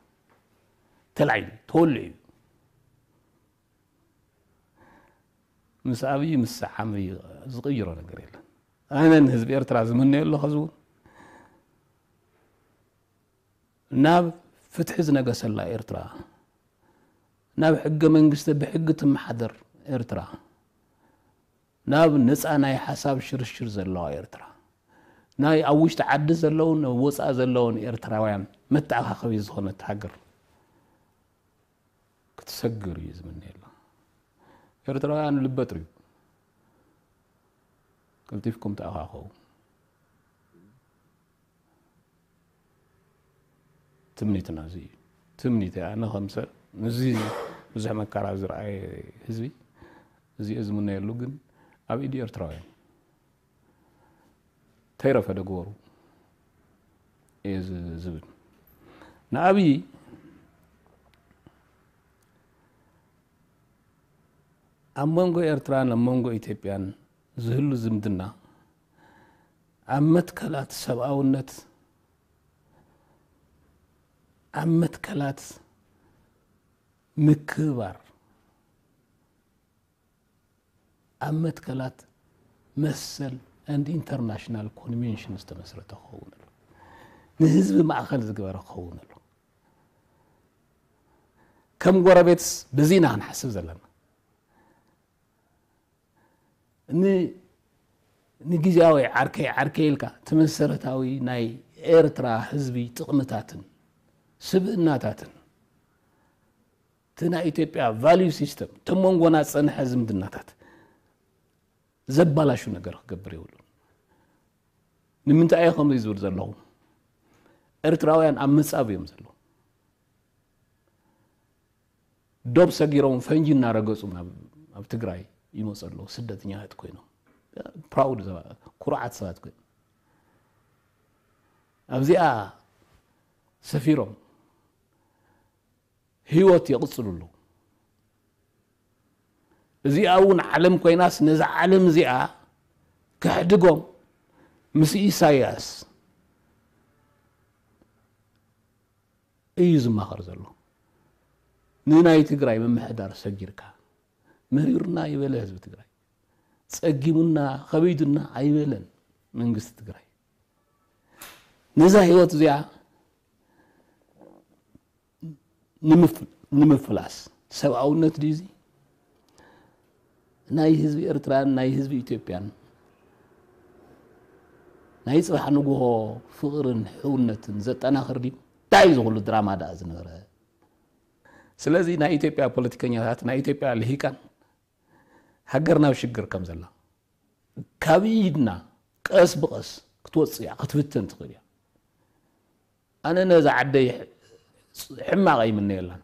ተላዒሉ ተወልዑ እዩ ምስ ኣብይ ምስ ሰዓም ዝቕይሮ ነገር የለን ኣነ ንህዝቢ ኤርትራ ዝምነዮ ኣለኹ ዝውን ናብ ፍትሒ ዝነገሰላ ኤርትራ ናብ ሕገ መንግስቲ ብሕጊ ትመሓደር ኤርትራ ናብ ነፃ ናይ ሓሳብ ሽርሽር ዘለዋ ኤርትራ ናይ ኣብ ውሽጢ ዓዲ ዘለውን ኣብ ወፃኢ ዘለውን ኤርትራውያን መተኣኻኸቢ ዝኾነት ሃገር ክትሰግር እዩ ዝምነየላ። ኤርትራውያን ልበ ጥርዩ ቀልጢፍኩም ተኣኻኸቡ። ትምኒትና እዚ እዩ። ትምኒት ኣነ ከም ሰብ እዚ ብዙሕ መከራ ዝረኣየ ህዝቢ እዚ ዝምነየሉ ግን ኣብ ኢድ ኤርትራውያን ከይረፈደ ግበሩ እየ ዝ- ዝብል። ንኣብይ ኣብ መንጎ ኤርትራን ኣብ መንጎ ኢትዮጵያን ዝህሉ ዝምድና ኣብ መትከላት ሰብኣውነት፣ ኣብ መትከላት ምክብባር፣ ኣብ መትከላት መሰል and international convention ዝተመስረተ ክኸውን ኣሎ። ንህዝቢ ማእኸል ዝገበረ ክኸውን ኣሎ። ከም ጎረቤትስ በዚ ኢና ክንሓስብ ዘለና። ን- ንግዜያዊ ዓርከይ ዓርከይ ኢልካ እቲ መሰረታዊ ናይ ኤርትራ ህዝቢ ጥቕምታትን ስብእናታትን እቲ ናይ ኢትዮጵያ value system እቲ መንጎና ዝጸንሐ ዝምድናታት ዘባላሹ ነገር ክገብር የብሉን። ንምንታይ እየ ከምዚ ዝብል ዘለኹ? ኤርትራውያን ኣብ ምጻብ እዮም ዘለዉ። ዶብ ሰጊሮም ፈንጂ እናረገጹ ናብ ኣብ ትግራይ ይመጹ ኣለዉ። ስደተኛታት ኮይኖም proud ኩሩዓት ሰባት ኮይኖም ኣብዚኣ ሰፊሮም ህይወት የቕጽሉ ኣለዉ። እዚኣ እውን ዓለም ኮይናስ ነዛ ዓለም እዚኣ ከሕድጎም ምስ ኢሳያስ እዩ ዝማኸር ዘሎ። ንናይ ትግራይ ምምሕዳር ሰጊርካ መሪሩና ይበለ ህዝቢ ትግራይ፣ ጸጊሙና ከቢዱና ኣይበለን መንግስቲ ትግራይ። ነዛ ህይወት እዚኣ ንምፍ- ንምፍላስ ሰብኣውነት ድዩ እዚ? ናይ ህዝቢ ኤርትራን ናይ ህዝቢ ኢትዮጵያን ናይ ጽባሕ ንግሆ ፍቕርን ሕውነትን ዘጠናኽር ድዩ? እንታይ እዚ ኩሉ ድራማ ደኣ ዝነበረ? ስለዚ ናይ ኢትዮጵያ ፖለቲከኛታት፣ ናይ ኢትዮጵያ ልሂቃን ሃገር ናብ ሽግር ከም ዘላ ካብ ኢድና ቀስ ብቐስ ክትወጽእ እያ፣ ክትብተን ትኽእል እያ። ኣነ ነዛ ዓደይ ሕማቕ ኣይምነየላን።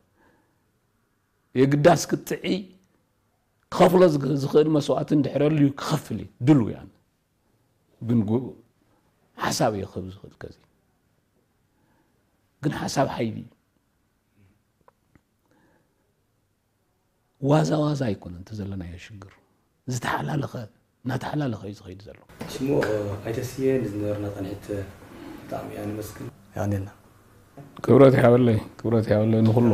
የግዳስ ክትጥዒ ክኸፍሎ ዝግ- ዝኽእል መስዋእቲ እንድሕር ኣልዩ ክኸፍል እዩ ድልው እየ ኣነ። ግን ጉ- ሓሳብ እየ ክህብ ዝኽእል ከዚ ግን ሓሳብ ሓይሊ እዩ። ዋዛ ዋዛ ኣይኮነን እቲ ዘለናዮ ሽግር። ዝተሓላለኸ እናተሓላለኸ እዩ ዝኸይድ ዘሎ። ሽሙ ኣይተስየ ንዝነበርና ፃንሒት ብጣዕሚ እያ ነመስግን። ያኔና ክብረት ያበለይ ክብረት ያበለይ ንኩሉ